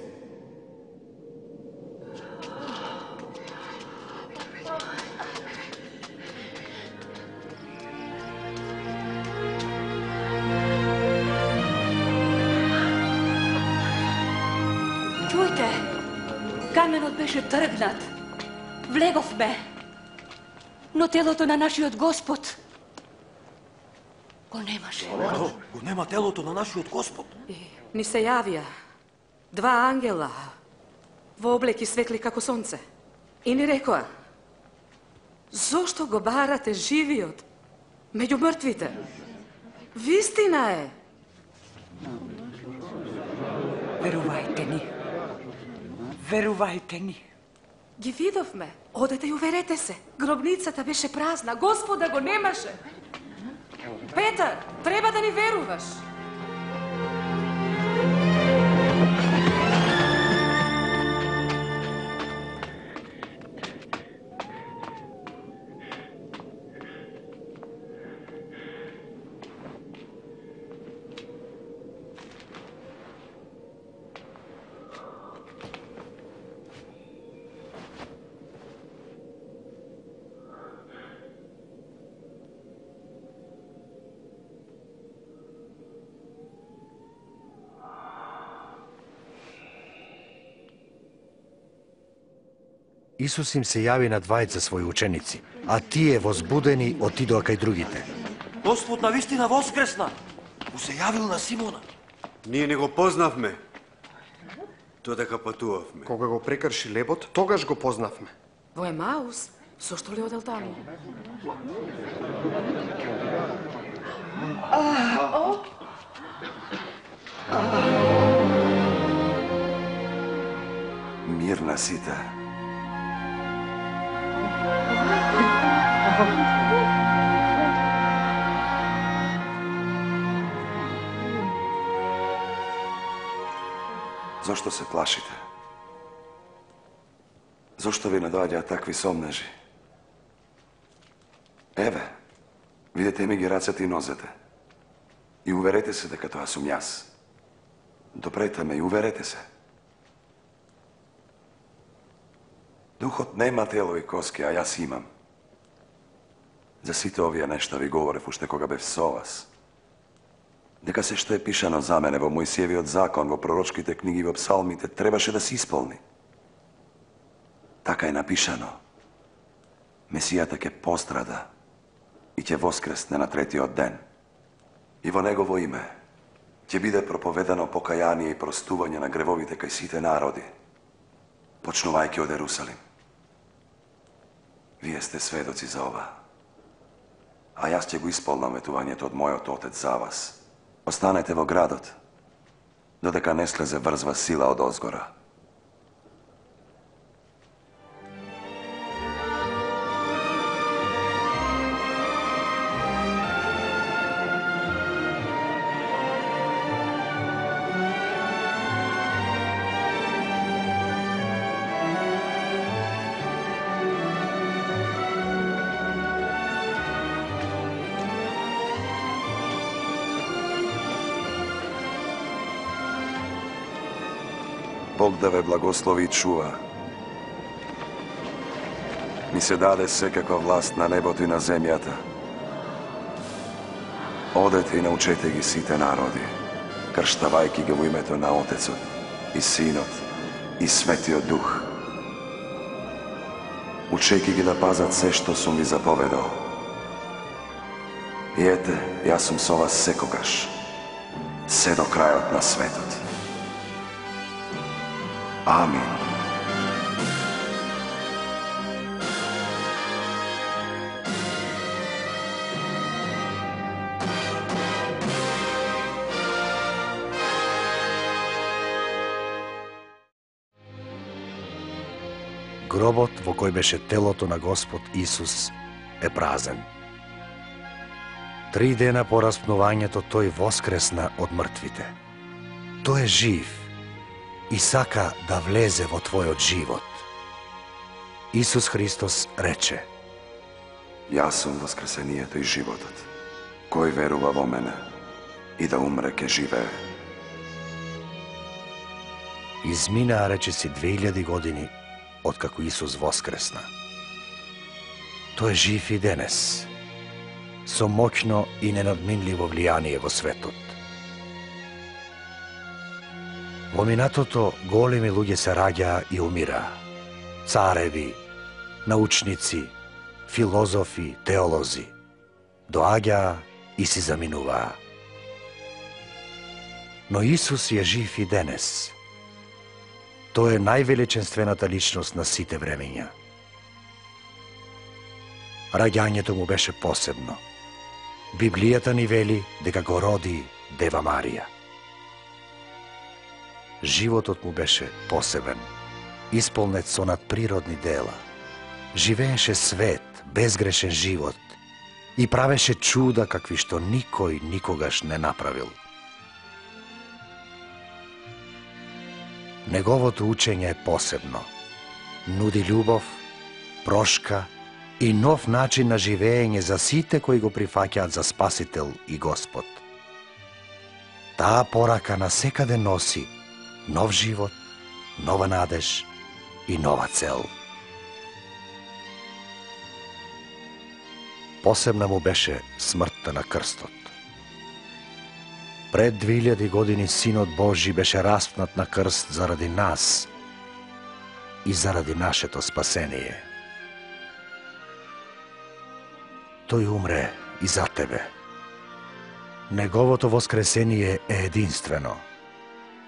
Speaker 10: Каменот беше тргнат. Влеговме. Но телото на нашиот Господ го немаше.
Speaker 11: Го нема телото на нашиот Господ.
Speaker 3: Ни се јавија два ангела во облеки светли како сонце. И ни рекоа: зошто го барате живиот меѓу мртвите? Вистина е.
Speaker 9: Верувајте ни. Верувајте ни.
Speaker 3: Ги видовме. Одете и уверете се. Гробницата беше празна. Господа го немаше. Петар, треба да ни веруваш.
Speaker 1: Исус им се јави на двајца своји ученици, а тие возбудени отидоа кај другите.
Speaker 11: Господ навистина воскресна. Му се јавил на Симона.
Speaker 19: Ние не го познавме. Додека патувавме.
Speaker 17: Кога го прекрши лебот, тогаш го познавме.
Speaker 3: Во Емаус? Зошто ли одел таму?
Speaker 12: Мир на сите. Зошто се плашите? Зошто ви наdoаѓаат такви сомнежи? Еве, видете ми ги рацете и нозете. И уверете се дека тоа сум јас. Допрете ме и уверете се. Духот нема тело и коски, а јас имам. За сите овие нешта ви говорев уште кога бев со вас. Дека се што е пишано за мене во Мојсиевиот закон, во пророчките книги, во псалмите, требаше да се исполни. Така е напишано. Месијата ќе пострада и ќе воскресне на третиот ден. И во негово име ќе биде проповедано покаяние и простување на гревовите кај сите народи, почнувајќи од Ерусалим. Вие сте сведоци за ова. А јас ќе го исполнам ветувањето од мојот Отец за вас. Останете во градот, додека не слезе врзва сила од озгора. Бог да ве благослови и чува. Ми се даде секаква власт на небото и на земјата. Одете и научете ги сите народи, крштавајки ги во името на Отецот и Синот и Светиот Дух. Учејки ги да пазат се што сум ви заповедал. И ете, јас сум со вас секогаш, се до крајот на светот. Амин.
Speaker 1: Гробот во кој беше телото на Господ Исус е празен. Три дена по распнувањето тој воскресна од мртвите. Тој е жив и сака да влезе во твојот живот. Исус Христос рече:
Speaker 12: Јас сум воскресението и животот. Кој верува во мене и да умре ке живее.
Speaker 1: Изминаа речиси две илјади години откако Исус воскресна. Тој е жив и денес, со моќно и ненадминливо влијание во светот. Во минатото големи луѓе се раѓаа и умираа. Цареви, научници, филозофи, теолози. Доаѓаа и си заминуваа. Но Исус е жив и денес. Тој е највеличенствената личност на сите времења. Раѓањето му беше посебно. Библијата ни вели дека го роди Дева Марија. Животот му беше посебен, исполнет со надприродни дела. Живееше свет, безгрешен живот и правеше чуда какви што никој никогаш не направил. Неговото учење е посебно. Нуди љубов, прошка и нов начин на живење за сите кои го прифаќаат за Спасител и Господ. Таа порака на секаде носи нов живот, нова надеж и нова цел. Посебна му беше смртта на крстот. Пред две илјади години Синот Божи беше распнат на крст заради нас. и заради нашето спасение. Тој умре и за тебе. Неговото воскресение е единствено.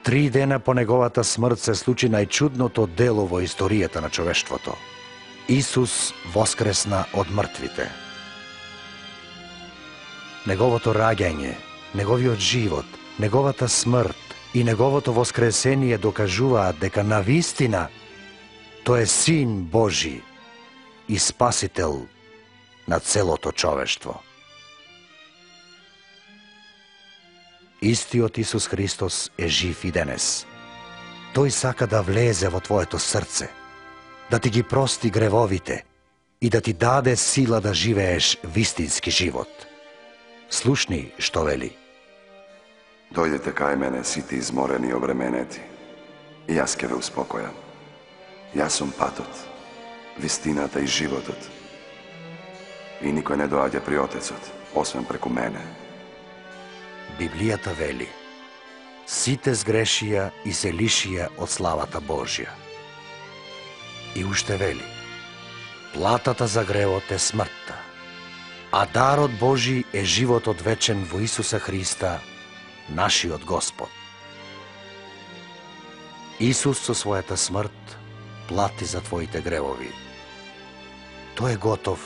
Speaker 1: Три дена по неговата смрт се случи најчудното дело во историјата на човештвото. Исус воскресна од мртвите. Неговото раѓање, неговиот живот, неговата смрт и неговото воскресение докажуваат дека навистина тој е Син Божи и Спасител на целото човештво. Истиот Исус Христос е жив и денес. Тој сака да влезе во твоето срце, да ти ги прости гревовите и да ти даде сила да живееш вистински живот. Слушни што вели.
Speaker 12: Дојдете кај мене сите изморени и обременети, и јас ќе ве успокојам. Јас сум патот, вистината и животот. И никој не доаѓа при Отецот, освен преку мене.
Speaker 1: Библијата вели: сите сгрешија и се лишија од славата Божја. И уште вели: платата за гревот е смртта, а дарот Божи е животот вечен во Исуса Христа, нашиот Господ. Исус со својата смрт плати за твоите гревови. Тој е готов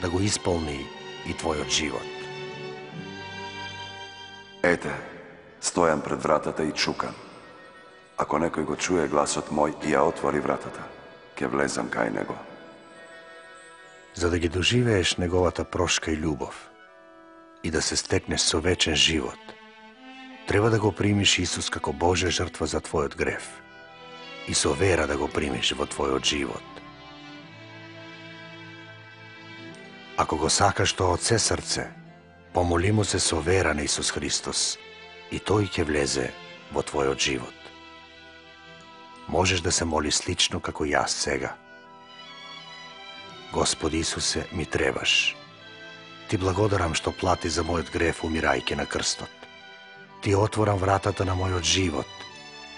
Speaker 1: да го исполни и твојот живот.
Speaker 12: Ете, стојам пред вратата и чукам. Ако некој го чуе гласот мој и ја отвори вратата, ќе влезам кај него.
Speaker 1: За да ги доживееш неговата прошка и љубов и да се стекнеш со вечен живот, треба да го примиш Исус како Божја жртва за твојот грев и со вера да го примиш во твојот живот. Ако го сакаш тоа од се срце, помоли му се со вера на Исус Христос и тој ќе влезе во твојот живот. Можеш да се моли слично како јас сега. Господи Исусе, ми требаш. Ти благодарам што плати за мојот грев умирајќи на крстот. Ти отворам вратата на мојот живот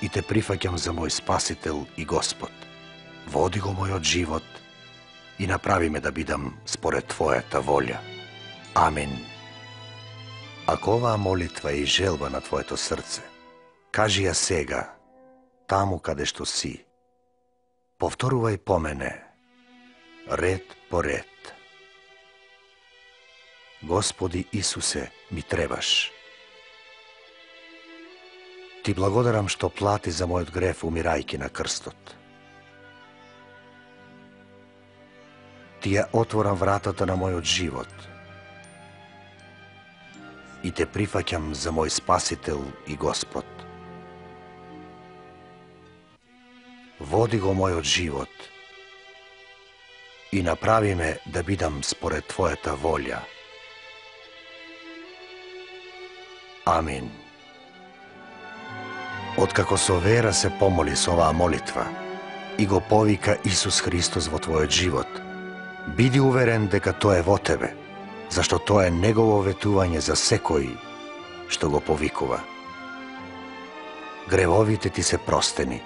Speaker 1: и те прифаќам за мој Спасител и Господ. Води го мојот живот и направи ме да бидам според Твојата волја. Амин. Ако оваа молитва е и желба на твоето срце, кажи ја сега, таму каде што си. Повторувај по мене, ред по ред. Господи Исусе, ми требаш. Ти благодарам што плати за мојот грев умирајќи на крстот. Ти ја отворам вратата на мојот живот и те прифаќам за мој Спасител и Господ. Води го мојот живот и направи ме да бидам според Твојата волја. Амин. Откако со вера се помоли со оваа молитва и го повика Исус Христос во твојот живот, биди уверен дека тоа е во тебе, зашто тоа е негово ветување за секој што го повикува. Гревовите ти се простени.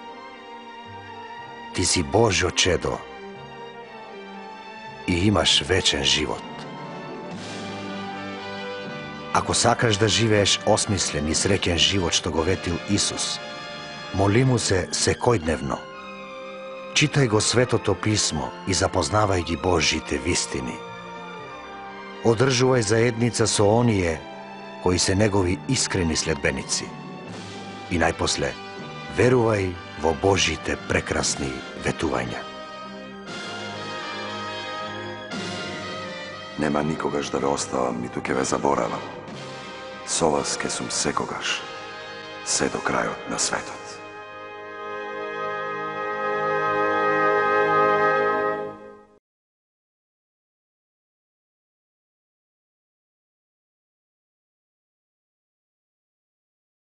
Speaker 1: Ти си Божјо чедо и имаш вечен живот. Ако сакаш да живееш осмислен и среќен живот што го ветил Исус, моли му се секојдневно. Читај го Светото Писмо и запознавај ги Божјите вистини. Одржувај заедница со оние кои се негови искрени следбеници. И најпосле, верувај во Божјите прекрасни ветувања.
Speaker 12: Нема никогаш да ве оставам, ниту ќе ве заборавам. Со вас ке сум секогаш, се до крајот на светот.